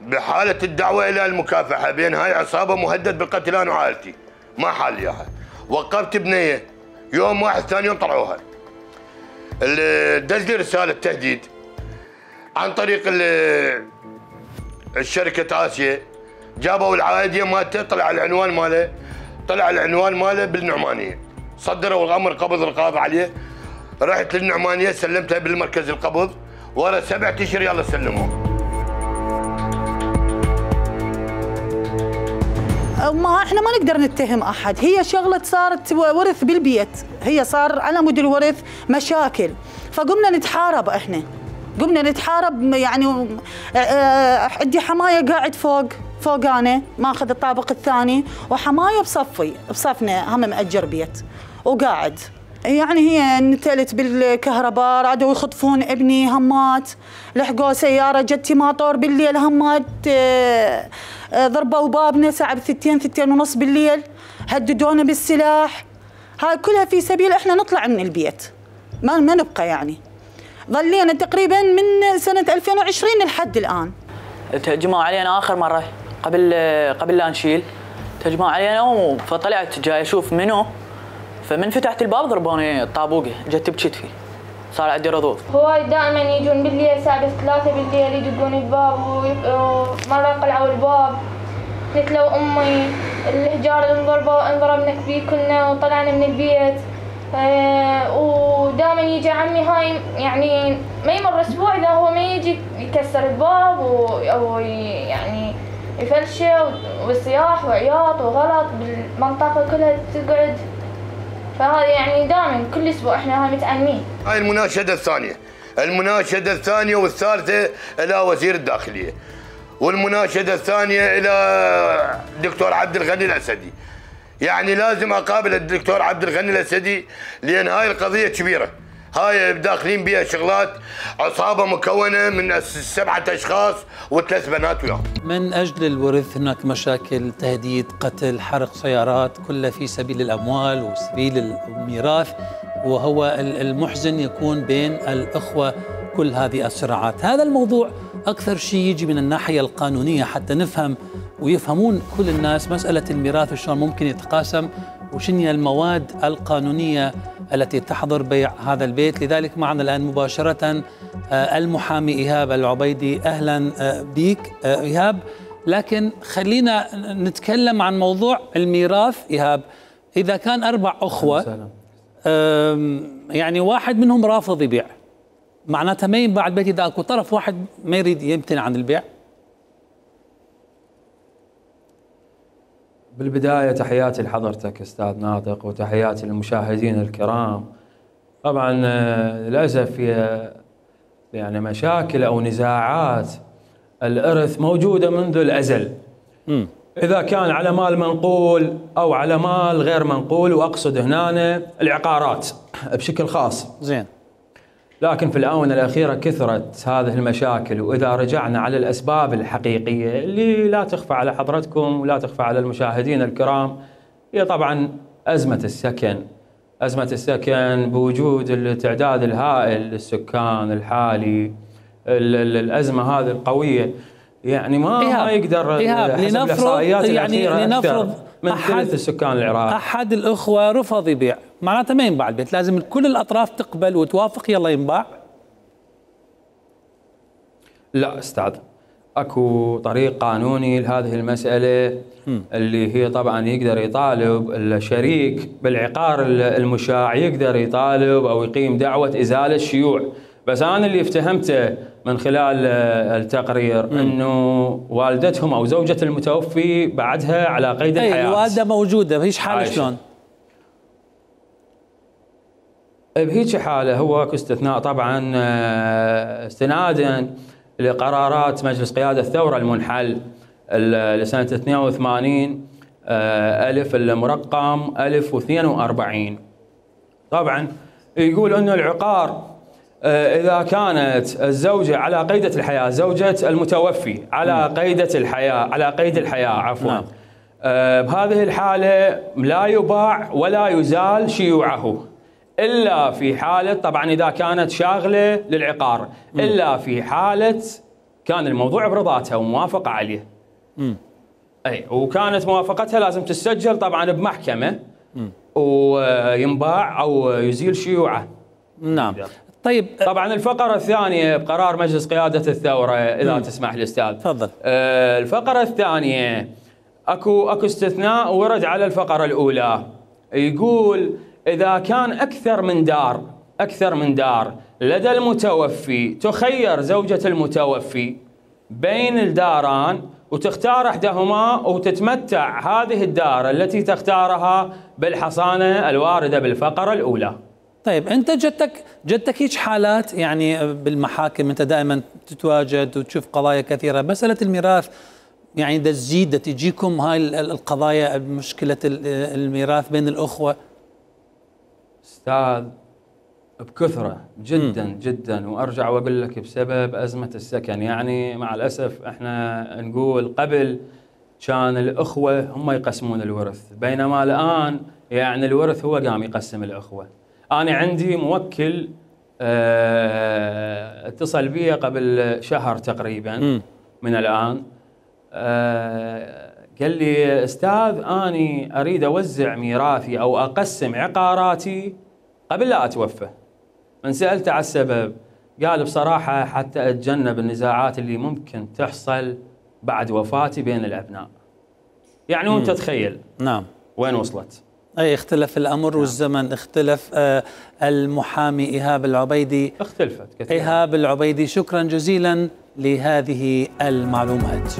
بحاله الدعوه الى المكافحه بين هاي عصابه مهدد بالقتل انا وعائلتي، ما حال اياها. وقفت بنيه يوم واحد ثاني يوم طلعوها. دز لي رساله تهديد عن طريق الشركه اسيا، جابوا العائديه مالته، طلع العنوان ماله بالنعمانيه، صدروا الامر قبض القاضي عليه. رحت للنعمانيه سلمتها بالمركز القبض، ورا 7 اشهر يلا سلموه. ما احنا ما نقدر نتهم احد، هي شغله صارت ورث بالبيت، هي صار على مود الورث مشاكل، فقمنا نتحارب احنا، قمنا نتحارب. يعني عندي حمايه قاعد فوق انا ماخذ الطابق الثاني، وحمايه بصفنا هم مأجر بيت وقاعد. يعني هي نتلت بالكهرباء، رادوا يخطفون ابني همات، لحقوا سياره جتي ماطور بالليل همات، ضربوا بابنا ساعه 2:30 بالليل، هددونا بالسلاح. هاي كلها في سبيل احنا نطلع من البيت، ما نبقى. يعني ظلينا تقريبا من سنه 2020 لحد الان. تهجموا علينا اخر مره قبل لا نشيل، تهجموا علينا فطلعت جاي اشوف منو، فمن فتحت الباب ضربوني الطابوقه، جت بكتفي، صار عندي رضوض. هواي دائما يجون بالليل الساعه 3 بالليل يدقون الباب، ومره قلعوا الباب. قلت له امي الحجار انضربنا فيه كلنا وطلعنا من البيت. ودائما يجي عمي هاي، يعني ما يمر اسبوع اذا هو ما يجي يكسر الباب او يعني يفلشه، وصياح وعياط وغلط بالمنطقه كلها تقعد. فهذا يعني دائما كل اسبوع احنا هاي متعلمين. هاي المناشده الثانيه والثالثه الى وزير الداخليه، والمناشده الثانيه الى الدكتور عبد الغني الاسدي. يعني لازم اقابل الدكتور عبد الغني الاسدي، لان هاي القضيه كبيره، هاي داخلين بها شغلات، عصابه مكونه من 7 اشخاص و3 بنات وياهم. من اجل الورث هناك مشاكل، تهديد، قتل، حرق سيارات، كلها في سبيل الاموال وسبيل الميراث. وهو المحزن يكون بين الاخوه كل هذه الصراعات. هذا الموضوع أكثر شيء يجي من الناحية القانونية حتى نفهم ويفهمون كل الناس مسألة الميراث وشلون ممكن يتقاسم وشنو هي المواد القانونية التي تحظر بيع هذا البيت. لذلك معنا الآن مباشرة المحامي إيهاب العبيدي. أهلا بك إيهاب. لكن خلينا نتكلم عن موضوع الميراث. إيهاب، إذا كان 4 أخوة يعني واحد منهم رافض يبيع، معناتها ما ينباع البيت إذا أكو طرف واحد ما يريد يمتنع عن البيع؟ بالبداية تحياتي لحضرتك أستاذ ناطق وتحياتي للمشاهدين الكرام. طبعا للأسف هي يعني مشاكل أو نزاعات الإرث موجودة منذ الأزل. إذا كان على مال منقول أو على مال غير منقول، وأقصد هنا العقارات بشكل خاص. زين. لكن في الآونة الأخيرة كثرت هذه المشاكل، وإذا رجعنا على الأسباب الحقيقية اللي لا تخفى على حضرتكم ولا تخفى على المشاهدين الكرام، هي طبعا أزمة السكن. أزمة السكن بوجود التعداد الهائل للسكان الحالي، الأزمة هذه القوية يعني ما يقدر حسب الإحصائيات الأخيرة أكثر من ثلث السكان العراق. أحد الأخوة رفض يبيع، معناته ما ينباع البيت، لازم كل الأطراف تقبل وتوافق يلا ينباع؟ لا أستاذ، أكو طريق قانوني لهذه المسألة اللي هي طبعا يقدر يطالب الشريك بالعقار المشاع، يقدر يطالب أو يقيم دعوة إزالة شيوع. بس أنا اللي افتهمته من خلال التقرير أنه والدتهم أو زوجة المتوفي بعدها على قيد الحياة. الوالدة موجودة بهيش حالة شلون؟ بهيك حالة هو كاستثناء طبعا استنادا لقرارات مجلس قيادة الثورة المنحل لسنة 82 ألف المرقم 1042. طبعا يقول أنه العقار إذا كانت الزوجة على قيدة الحياة، زوجة المتوفي على قيد الحياة عفوا، بهذه الحالة لا يباع ولا يزال شيوعه إلا في حالة، طبعا إذا كانت شاغلة للعقار، إلا في حالة كان الموضوع برضاتها وموافقة عليه. أي وكانت موافقتها لازم تسجل طبعا بمحكمة وينباع أو يزيل شيوعه. نعم. طيب طبعا الفقرة الثانية بقرار مجلس قيادة الثورة إذا تسمح لي أستاذ. تفضل. الفقرة الثانية أكو استثناء ورد على الفقرة الأولى، يقول إذا كان أكثر من دار لدى المتوفي، تخير زوجة المتوفي بين الداران وتختار إحداهما وتتمتع هذه الدار التي تختارها بالحصانة الواردة بالفقرة الأولى. طيب أنت جدتك هيك حالات يعني بالمحاكم، أنت دائما تتواجد وتشوف قضايا كثيرة، مسألة الميراث يعني تزيد تجيكم هاي القضايا، مشكلة الميراث بين الأخوة؟ أستاذ بكثرة جدا جدا، وأرجع وأقول لك بسبب أزمة السكن. يعني مع الأسف احنا نقول قبل كان الأخوة هم يقسمون الورث، بينما الآن يعني الورث هو قام يقسم الأخوة. أنا عندي موكل اتصل بي قبل شهر تقريبا من الآن، قال لي أستاذ أني أريد أوزع ميراثي أو أقسم عقاراتي قبل لا أتوفى. من سألت على السبب قال بصراحة حتى أتجنب النزاعات اللي ممكن تحصل بعد وفاتي بين الأبناء. يعني وأنت تخيل نعم وين وصلت. أي اختلف الأمر. نعم. والزمن اختلف. المحامي إيهاب العبيدي اختلفت كثير. إيهاب العبيدي، شكرا جزيلا لهذه المعلومات.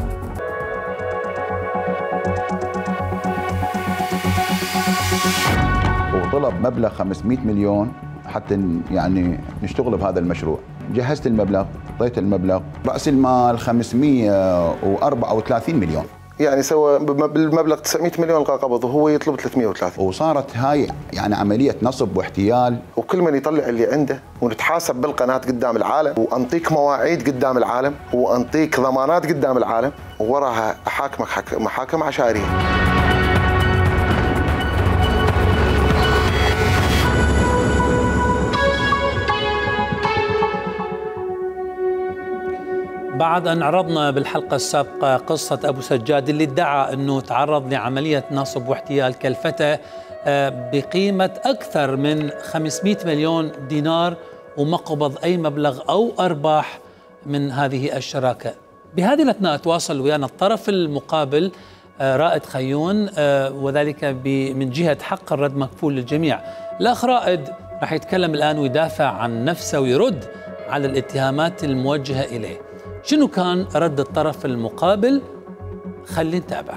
وطلب مبلغ 500 مليون حتى يعني نشتغل بهذا المشروع. جهزت المبلغ، اعطيت المبلغ، رأس المال 534 مليون. يعني سوى بالمبلغ 900 مليون القى قبض وهو يطلب 330. وصارت هاي يعني عملية نصب واحتيال، وكل من يطلع اللي عنده، ونتحاسب بالقناة قدام العالم، وانطيك مواعيد قدام العالم، وانطيك ضمانات قدام العالم، ووراها احاكمك محاكم عشائرية. بعد أن عرضنا بالحلقة السابقة قصة أبو سجاد اللي ادعى أنه تعرض لعملية نصب واحتيال كلفته بقيمة أكثر من 500 مليون دينار وما قبض أي مبلغ أو أرباح من هذه الشراكة. بهذه الأثناء تواصل ويانا الطرف المقابل رائد خيون، وذلك من جهة حق الرد مكفول للجميع. الأخ رائد راح يتكلم الآن ويدافع عن نفسه ويرد على الاتهامات الموجهة إليه. شنو كان رد الطرف المقابل؟ خلينا نتابع.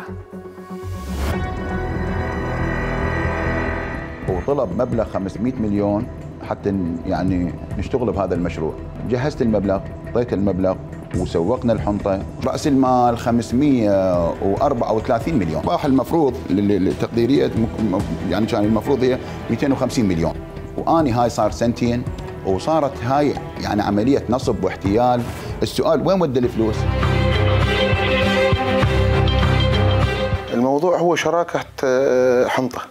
وطلب مبلغ 500 مليون حتى يعني نشتغل بهذا المشروع. جهزت المبلغ، اعطيت المبلغ وسوقنا الحنطة. رأس المال 534 مليون. باح المفروض التقديرية يعني كان المفروض هي 250 مليون. واني هاي صار سنتين وصارت هاي يعني عملية نصب واحتيال. السؤال وين ودى الفلوس؟ الموضوع هو شراكة حنطة،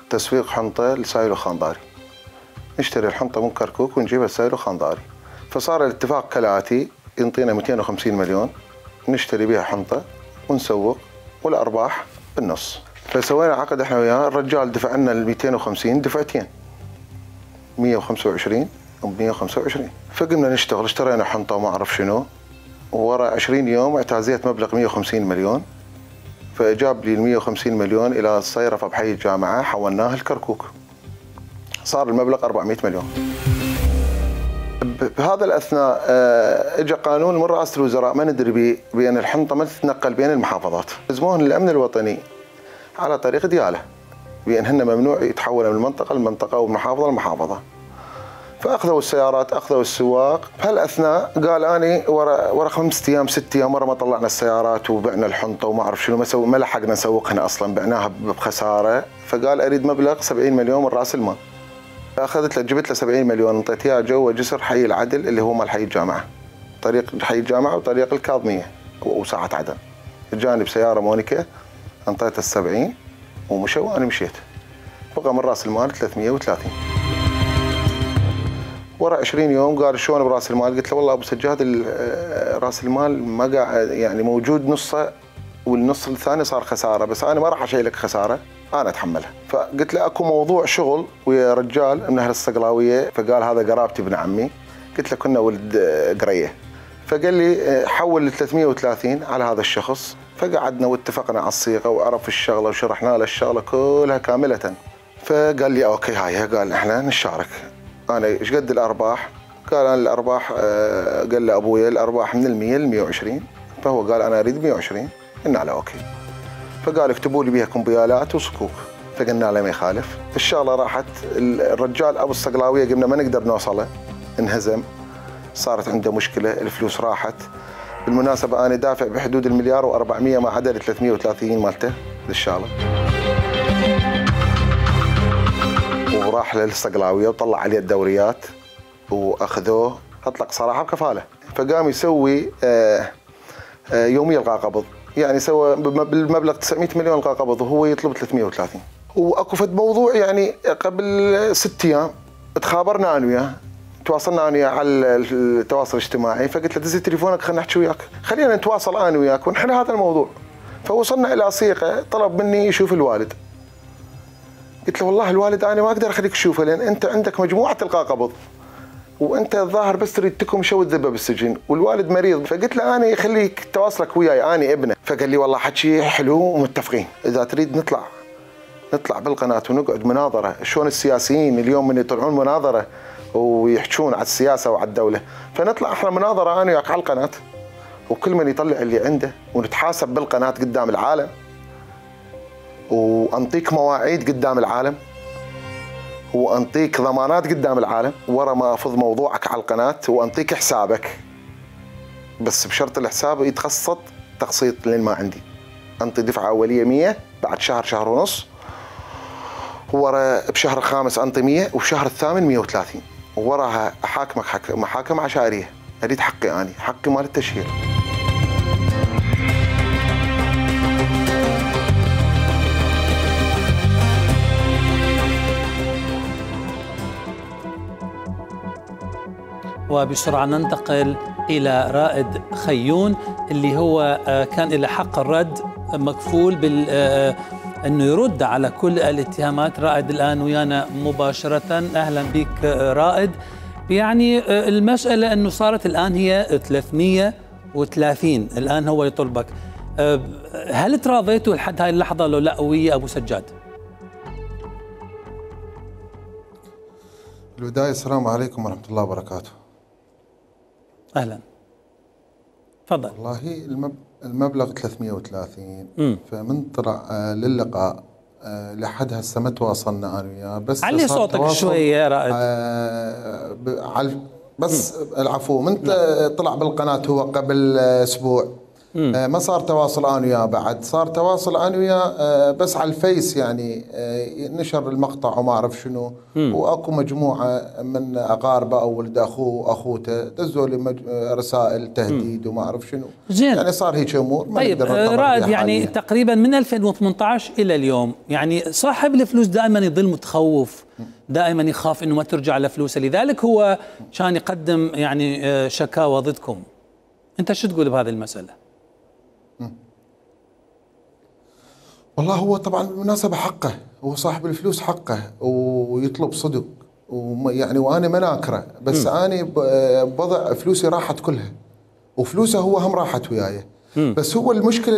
تسويق حنطة لسايلو خانضاري. نشتري الحنطة من كركوك ونجيبها لسايلو خانضاري. فصار الاتفاق كالآتي: ينطينا 250 مليون نشتري بها حنطة ونسوق والأرباح بالنص. فسوينا عقد احنا وياه. الرجال دفع لنا ال 250 دفعتين، 125 و 125. فقمنا نشتغل، اشترينا حنطة وما أعرف شنو. وورا 20 يوم اعتازيت مبلغ 150 مليون. فجاب لي ال 150 مليون إلى الصيرفة بحي الجامعة، حولناها لكركوك. صار المبلغ 400 مليون. بهذا الأثناء اجى قانون من رئاسة الوزراء ما ندري بأن الحنطة ما تتنقل بين المحافظات. لزموهن الأمن الوطني على طريق ديالة بأن هن ممنوع يتحولوا من منطقة لمنطقة ومن محافظة فأخذوا السيارات، أخذوا السواق. بهالأثناء قال أنا ورا 5 أيام 6 أيام مرة ما طلعنا السيارات وبعنا الحنطة وما أعرف شنو، ما لحقنا نسوقها أصلا، بعناها بخسارة. فقال أريد مبلغ 70 مليون من رأس المال. أخذت له جبت له 70 مليون انطيت اياه جوا جسر حي العدل اللي هو مال حي الجامعة، طريق حي الجامعة وطريق الكاظمية وساعة عدن. جاني بسيارة مونيكا انطيته 70 ومشى وأنا مشيت. بقى من رأس المال 330. ورا 20 يوم قال شلون براس المال؟ قلت له والله ابو سجاد راس المال ما قاعد يعني موجود نصه والنص الثاني صار خساره، بس انا ما راح اشيلك خساره، انا اتحملها. فقلت له اكو موضوع شغل ويا رجال من اهل الصقلاويه، فقال هذا قرابتي ابن عمي. قلت له كنا ولد قريه. فقال لي حول ل 330 على هذا الشخص. فقعدنا واتفقنا على الصيغه وعرف الشغله وشرحنا له الشغله كلها كامله. فقال لي اوكي هاي، قال احنا نشارك. انا ايش قد الارباح؟ قال انا الارباح قال له ابويا الارباح من ال100 ل 120. فهو قال انا اريد 120. قلنا له اوكي. فقال اكتبوا لي بها كمبيالات وصكوك. فقلنا له ما يخالف. الشغله راحت. الرجال ابو الصقلاويه قمنا ما نقدر نوصله، انهزم، صارت عنده مشكله، الفلوس راحت. بالمناسبه انا دافع بحدود المليار و400 ما عدا ال 330 مالته للشغله. وراح للصقلاويه وطلع عليه الدوريات واخذوه، اطلق صراحه بكفاله. فقام يسوي يوميه القى قبض، يعني سوى بالمبلغ 900 مليون القى قبض وهو يطلب 330. واكو فد موضوع يعني قبل 6 ايام تخابرنا انا وياه، تواصلنا انا وياه على التواصل الاجتماعي. فقلت له دز تليفونك خلينا نحكي وياك، خلينا نتواصل انا وياك ونحل هذا الموضوع. فوصلنا الى صيغه طلب مني يشوف الوالد. قلت له والله الوالد انا ما اقدر اخليك تشوفه لان انت عندك مجموعه القاء قبض وانت الظاهر بس تريد تكم شو الذبه بالسجن والوالد مريض. فقلت له انا خليك تواصلك وياي انا ابنه. فقال لي والله حكي حلو ومتفقين، اذا تريد نطلع بالقناه ونقعد مناظره شلون السياسيين اليوم من يطلعون مناظره ويحجون على السياسه وعلى الدوله، فنطلع احنا مناظره انا وياك على القناه وكل من يطلع اللي عنده ونتحاسب بالقناه قدام العالم وانطيك مواعيد قدام العالم وانطيك ضمانات قدام العالم ورا ما افض موضوعك على القناه وانطيك حسابك، بس بشرط الحساب يتخصص تقسيط لين ما عندي. انطي دفعه اوليه 100 بعد شهر ونص، ورا بشهر الخامس انطي 100 وبشهر الثامن 130 ووراها احاكمك محاكم عشائريه. اريد حقي اني، حقي مال التشهير. وبسرعة ننتقل إلى رائد خيون اللي هو كان إلى حق الرد مكفول بال أنه يرد على كل الاتهامات. رائد الآن ويانا مباشرة. أهلا بك رائد. يعني المسألة أنه صارت الآن هي 330 الآن هو يطلبك. هل تراضيتوا لحد هاي اللحظة لو لا ويا أبو سجاد؟ البداية السلام عليكم ورحمة الله وبركاته. أهلا تفضل. والله المبلغ 330 فمن طلع للقاء لحد هسه ما تواصلنا انا وياه. بس علي صوتك شويه يا رائد. بس العفو من طلع بالقناه هو قبل اسبوع ما صار تواصل انا وياه بعد. صار تواصل انا وياه بس على الفيس يعني نشر المقطع وما اعرف شنو. واكو مجموعه من اقاربه او ولد اخوه واخوته دزوا لي رسائل تهديد وما اعرف شنو. زين. يعني صار هيك امور. طيب رائد يعني تقريبا من 2018 الى اليوم يعني صاحب الفلوس دائما يظل متخوف، دائما يخاف انه ما ترجع له فلوسه، لذلك هو كان يقدم يعني شكاوى ضدكم. انت شو تقول بهذه المساله؟ والله هو طبعا بالمناسبة حقه، هو صاحب الفلوس حقه ويطلب صدق ويعني وانا ما ناكره، بس انا بوضع فلوسي راحت كلها وفلوسه هو هم راحت وياي. بس هو المشكلة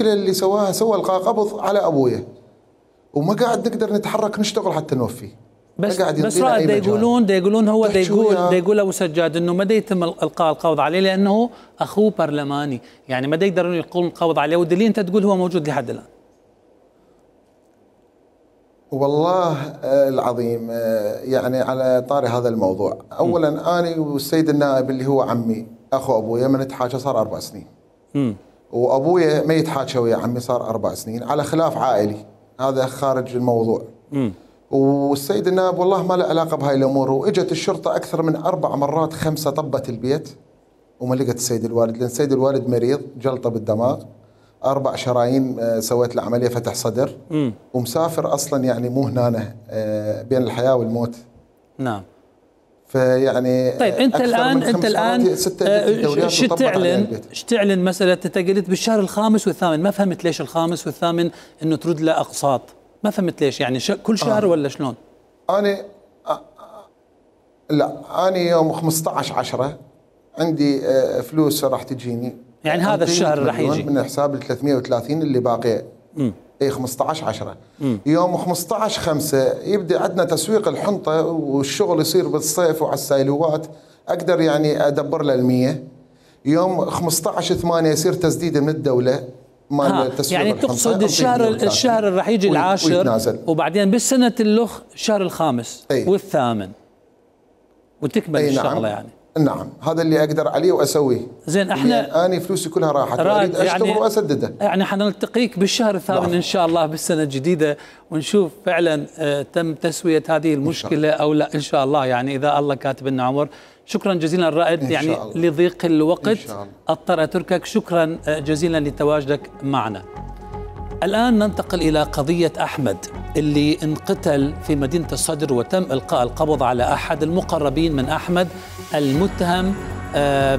اللي سواها سوى القاء قبض على ابويا وما قاعد نقدر نتحرك نشتغل حتى نوفي. بس رائد يقولون هو يقول ابو سجاد انه ما يتم القاء القبض عليه لانه اخوه برلماني، يعني ما يقدرون يلقون القبض عليه، والدليل انت تقول هو موجود لحد الان. والله العظيم يعني على طاري هذا الموضوع، اولا انا والسيد النائب اللي هو عمي اخو ابويا ما نتحاكى صار 4 سنين. وابويا ما يتحاكى ويا عمي صار 4 سنين على خلاف عائلي، هذا خارج الموضوع. والسيد النائب والله ما له علاقه بهاي الامور، واجت الشرطه اكثر من 4 مرات 5 طبت البيت وما لقت السيد الوالد، لان السيد الوالد مريض جلطه بالدماغ 4 شرايين سويت له عمليه فتح صدر ومسافر اصلا يعني مو هنا بين الحياه والموت. نعم. فيعني طيب انت الان شو تعلن مساله انت قلت بالشهر الخامس والثامن، ما فهمت ليش الخامس والثامن انه ترد له اقساط؟ ما فهمت ليش يعني كل شهر ولا شلون؟ أنا لا أنا يوم 15/10 عندي فلوس راح تجيني، يعني هذا الشهر راح يجي من حساب ال 330 اللي باقي. اي 15/10 يوم 15/5 يبدأ عندنا تسويق الحنطة والشغل يصير بالصيف وعلى السايلوات، أقدر يعني أدبر له 100. يوم 15/8 يصير تسديد من الدولة يعني تقصد الشهر راح يجي العاشر وبعدين بالسنة الأخ الشهر الخامس والثامن وتكمل الشغلة. يعني نعم هذا اللي أقدر عليه وأسويه. زين احنا أنا فلوسي كلها راحت وأريد أشتغل يعني وأسدده. يعني حنلتقيك بالشهر الثامن إن شاء الله بالسنة الجديدة ونشوف فعلا تم تسوية هذه المشكلة أو لا إن شاء الله، يعني إذا الله كاتب لنا عمر. شكرا جزيلا الرائد، يعني لضيق الوقت أضطر أتركك. شكرا جزيلا لتواجدك معنا. الآن ننتقل إلى قضية أحمد اللي انقتل في مدينة الصدر وتم إلقاء القبض على أحد المقربين من أحمد المتهم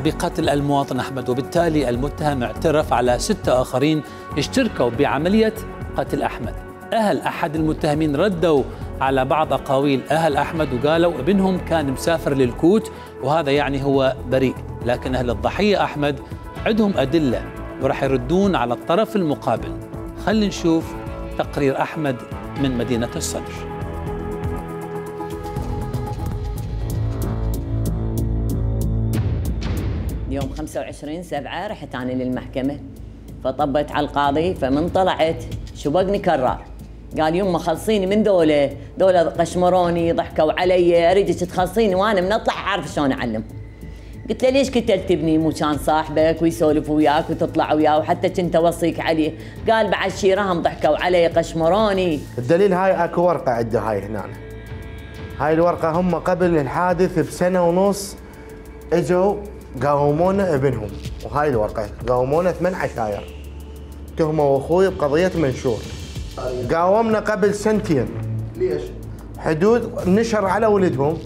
بقتل المواطن أحمد، وبالتالي المتهم اعترف على 6 آخرين اشتركوا بعملية قتل أحمد. أهل أحد المتهمين ردوا على بعض أقاويل أهل أحمد وقالوا ابنهم كان مسافر للكوت وهذا يعني هو بريء، لكن أهل الضحية أحمد عندهم أدلة ورح يردون على الطرف المقابل. خلينا نشوف تقرير أحمد من مدينة الصدر. يوم 25/7 رحت أنا للمحكمة فطبت على القاضي، فمن طلعت شبقني كرار قال يما خلصيني من دولة قشمروني ضحكوا علي، اريدك تخلصيني وانا من اطلع اعرف شلون اعلم. قلت له ليش قتلت ابني؟ مو كان صاحبك ويسولف وياك وتطلع وياه وحتى كنت اوصيك عليه. قال بعد شي رهم ضحكوا علي قشمروني. الدليل هاي اكو ورقه عنده هاي هنا، هاي الورقه هم قبل الحادث بسنه ونص اجوا قاومونا ابنهم، وهاي الورقه قاومونا 8 عشاير تهموا اخوي بقضيه منشور. قاومنا قبل 2 سنين. ليش؟ حدود نشر على ولدهم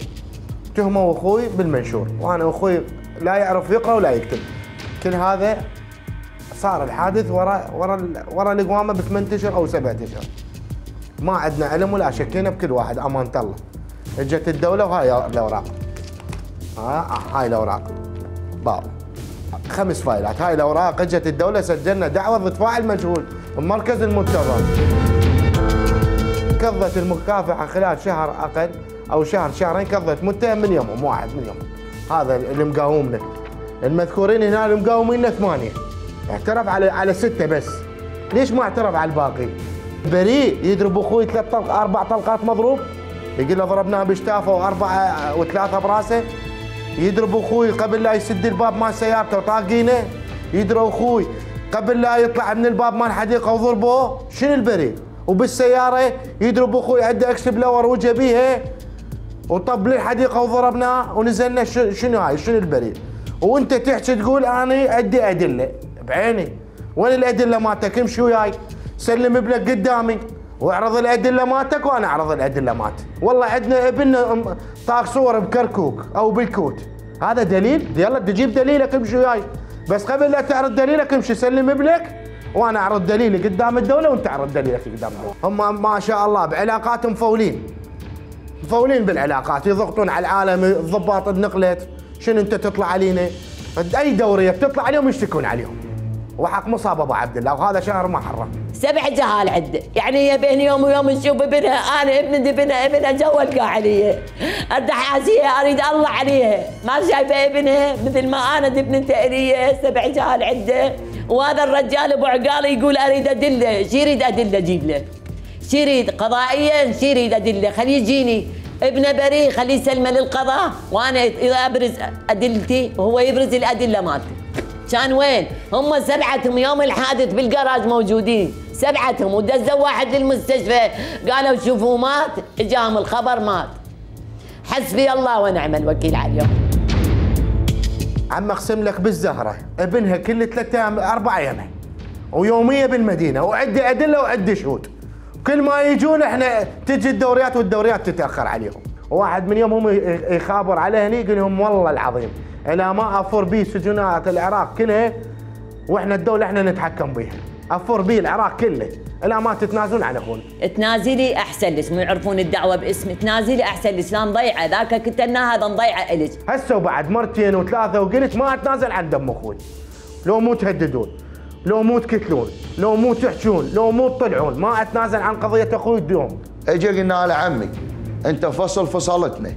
اتهموا اخوي بالمنشور، وانا اخوي لا يعرف يقرا ولا يكتب. كل هذا صار الحادث ورا القوامه ب 8 اشهر او 7 اشهر. ما عندنا علم ولا شكينا بكل واحد، امانه الله. اجت الدوله وهاي الاوراق. هاي الاوراق. باب 5 فايلات، هاي الاوراق اجت الدوله، سجلنا دعوه بدفاع المجهول بمركز المنتظر. كظت المكافحه خلال شهر اقل او شهر شهرين، كظت متهم من يومهم، واحد من يومهم. هذا اللي مقاومنا. المذكورين هنا اللي مقاوميننا 8. اعترف على 6 بس. ليش ما اعترف على الباقي؟ بريء يضرب اخوي 4 طلقات مضروب، يقول له ضربناه بشتافه و4 و3 براسه. يضرب اخوي قبل لا يسد الباب مال سيارته وطاقينه. يضرب اخوي قبل لا يطلع من الباب مال الحديقه وضربوه. شنو البريء؟ وبالسياره يضرب اخوي عنده اكس بلور وجه بيها وطب للحديقه وضربناه ونزلنا. شنو هاي؟ شنو البريء؟ وانت تحكي تقول انا عندي ادله بعيني. وين الادله مالتك؟ امشي وياي سلم ابنك قدامي واعرض الادله مالتك وانا اعرض الادله مالتي. والله عندنا ابن طاق صور بكركوك او بالكوت، هذا دليل؟ يلا تجيب دليلك امشي وياي، بس قبل لا تعرض دليلك امشي سلم ابنك وانا اعرض دليلي قدام الدوله وانت اعرض دليلك قدام الدوله. هم ما شاء الله بعلاقاتهم مفولين بالعلاقات، يضغطون على العالم. الضباط النقلت شنو انت تطلع علينا؟ اي دوريه بتطلع عليهم يشتكون عليهم. وحق مصاب ابو عبد الله، وهذا شهر محرم. 7 جهال عنده، يعني هي بين يوم ويوم نشوف ابنها. انا ابنها جوا علي، الدحاسيه اريد الله عليها، ما شايفه ابنها مثل ما انا ابنته الي. 7 جهال عنده، وهذا الرجال ابو عقال يقول اريد ادله. شو يريد ادله اجيب له؟ شو يريد قضائيا؟ شو يريد ادله؟ خليه يجيني ابنه بريء، خليه يسلمه للقضاء وانا ابرز ادلتي وهو يبرز الادله مالته. كان وين؟ هم 7 يوم الحادث بالجراج موجودين 7، ودزوا واحد للمستشفى قالوا شوفوا مات، اجاهم الخبر مات. حسبي الله ونعم الوكيل عليهم. عم اقسم لك بالزهره ابنها كل 3 ايام 4 ايام ويوميه بالمدينه، وعندي ادله وعندي شهود. كل ما يجون احنا تجي الدوريات والدوريات تتاخر عليهم. واحد من يوم هم يخابر عليه هني يقول لهم والله العظيم الى ما افر بي سجونات العراق كلها واحنا الدوله احنا نتحكم بيها، افر بي العراق كله الى ما تتنازلون عن اخونا. تنازلي احسن لك، مو يعرفون الدعوه باسمي، تنازلي احسن لك، لا نضيعه ذاك كتلنا هذا نضيعه الك. هسه وبعد 2 و3 وقلت ما اتنازل عن دم اخوي. لو مو تهددون، لو مو تكتلون، لو مو تحجون، لو مو تطلعون، ما اتنازل عن قضيه اخوي اليوم. اجي قلنا له عمي انت فصلتنا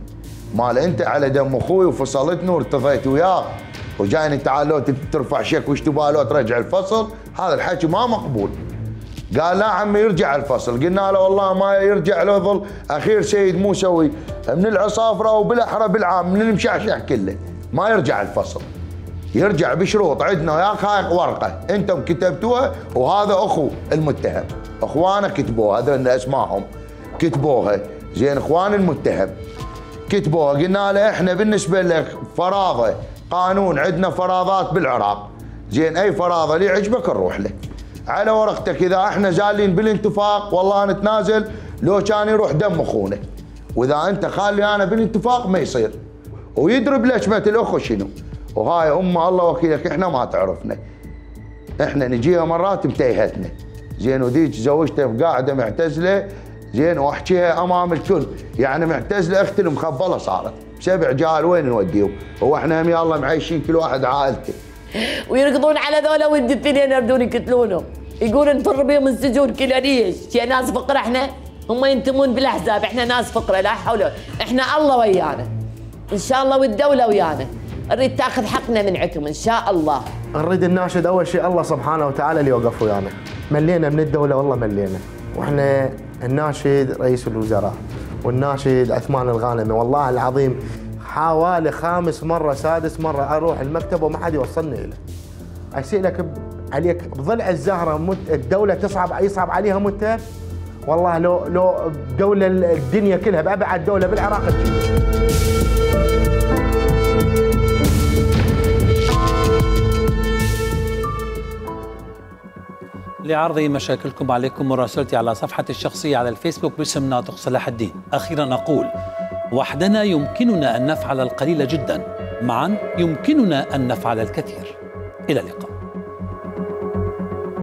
مال انت على دم اخوي وفصلتنا وارتضيت وياه وجايني تعال لو ترفع شك وش تبغى لو ترجع الفصل، هذا الحكي ما مقبول. قال لا عمي يرجع الفصل، قلنا له والله ما يرجع له، يظل اخير سيد موسوي من العصافره وبالاحرى بالعام من المشعشع كله ما يرجع الفصل، يرجع بشروط. عندنا وياك هاي ورقه انتم كتبتوها وهذا اخو المتهم، اخوانه كتبوها هذول اسمائهم كتبوها، زين اخوان المتهم كتبوها. قلنا له احنا بالنسبه لك فراضه قانون، عندنا فراضات بالعراق، زين اي فراضه اللي يعجبك نروح له على ورقتك. اذا احنا زالين بالاتفاق والله نتنازل لو كان يروح دم اخونا، واذا انت خالي انا بالاتفاق ما يصير. ويدرب لجمه الاخو شنو، وهاي الله وكيلك احنا ما تعرفنا، احنا نجيها مرات متيهتنا، زين وذيك زوجتها بقاعده معتزله، زين واحكيها امام الكل، يعني معتزله اختي المخبله صارت 7 جهال وين نوديهم؟ هو احنا هم يلا معيشين كل واحد عائلته. ويركضون على ذولا ولد الثنين يردون يقتلونهم، يقولون نفر بهم السجون كلها. ليش؟ يا ناس فقره احنا، هم ينتمون بالاحزاب، احنا ناس فقره لا حول، احنا الله ويانا ان شاء الله والدوله ويانا، نريد تاخذ حقنا من عندكم ان شاء الله. نريد الناشد اول شيء الله سبحانه وتعالى اللي يوقف ويانا، ملينا من الدوله والله ملينا، واحنا الناشد رئيس الوزراء والناشد عثمان الغانمي والله العظيم حوالي 5 مرة 6 مرة اروح المكتب وما حد يوصلني له. اسالك عليك بضلع الزهره الدوله يصعب عليها متهم؟ والله لو الدوله الدنيا كلها بابعد دوله بالعراق تجي. لعرض مشاكلكم عليكم مراسلتي على صفحتي الشخصية على الفيسبوك باسم ناطق صلاح الدين. أخيرا أقول وحدنا يمكننا أن نفعل القليل جدا، معا يمكننا أن نفعل الكثير. إلى اللقاء.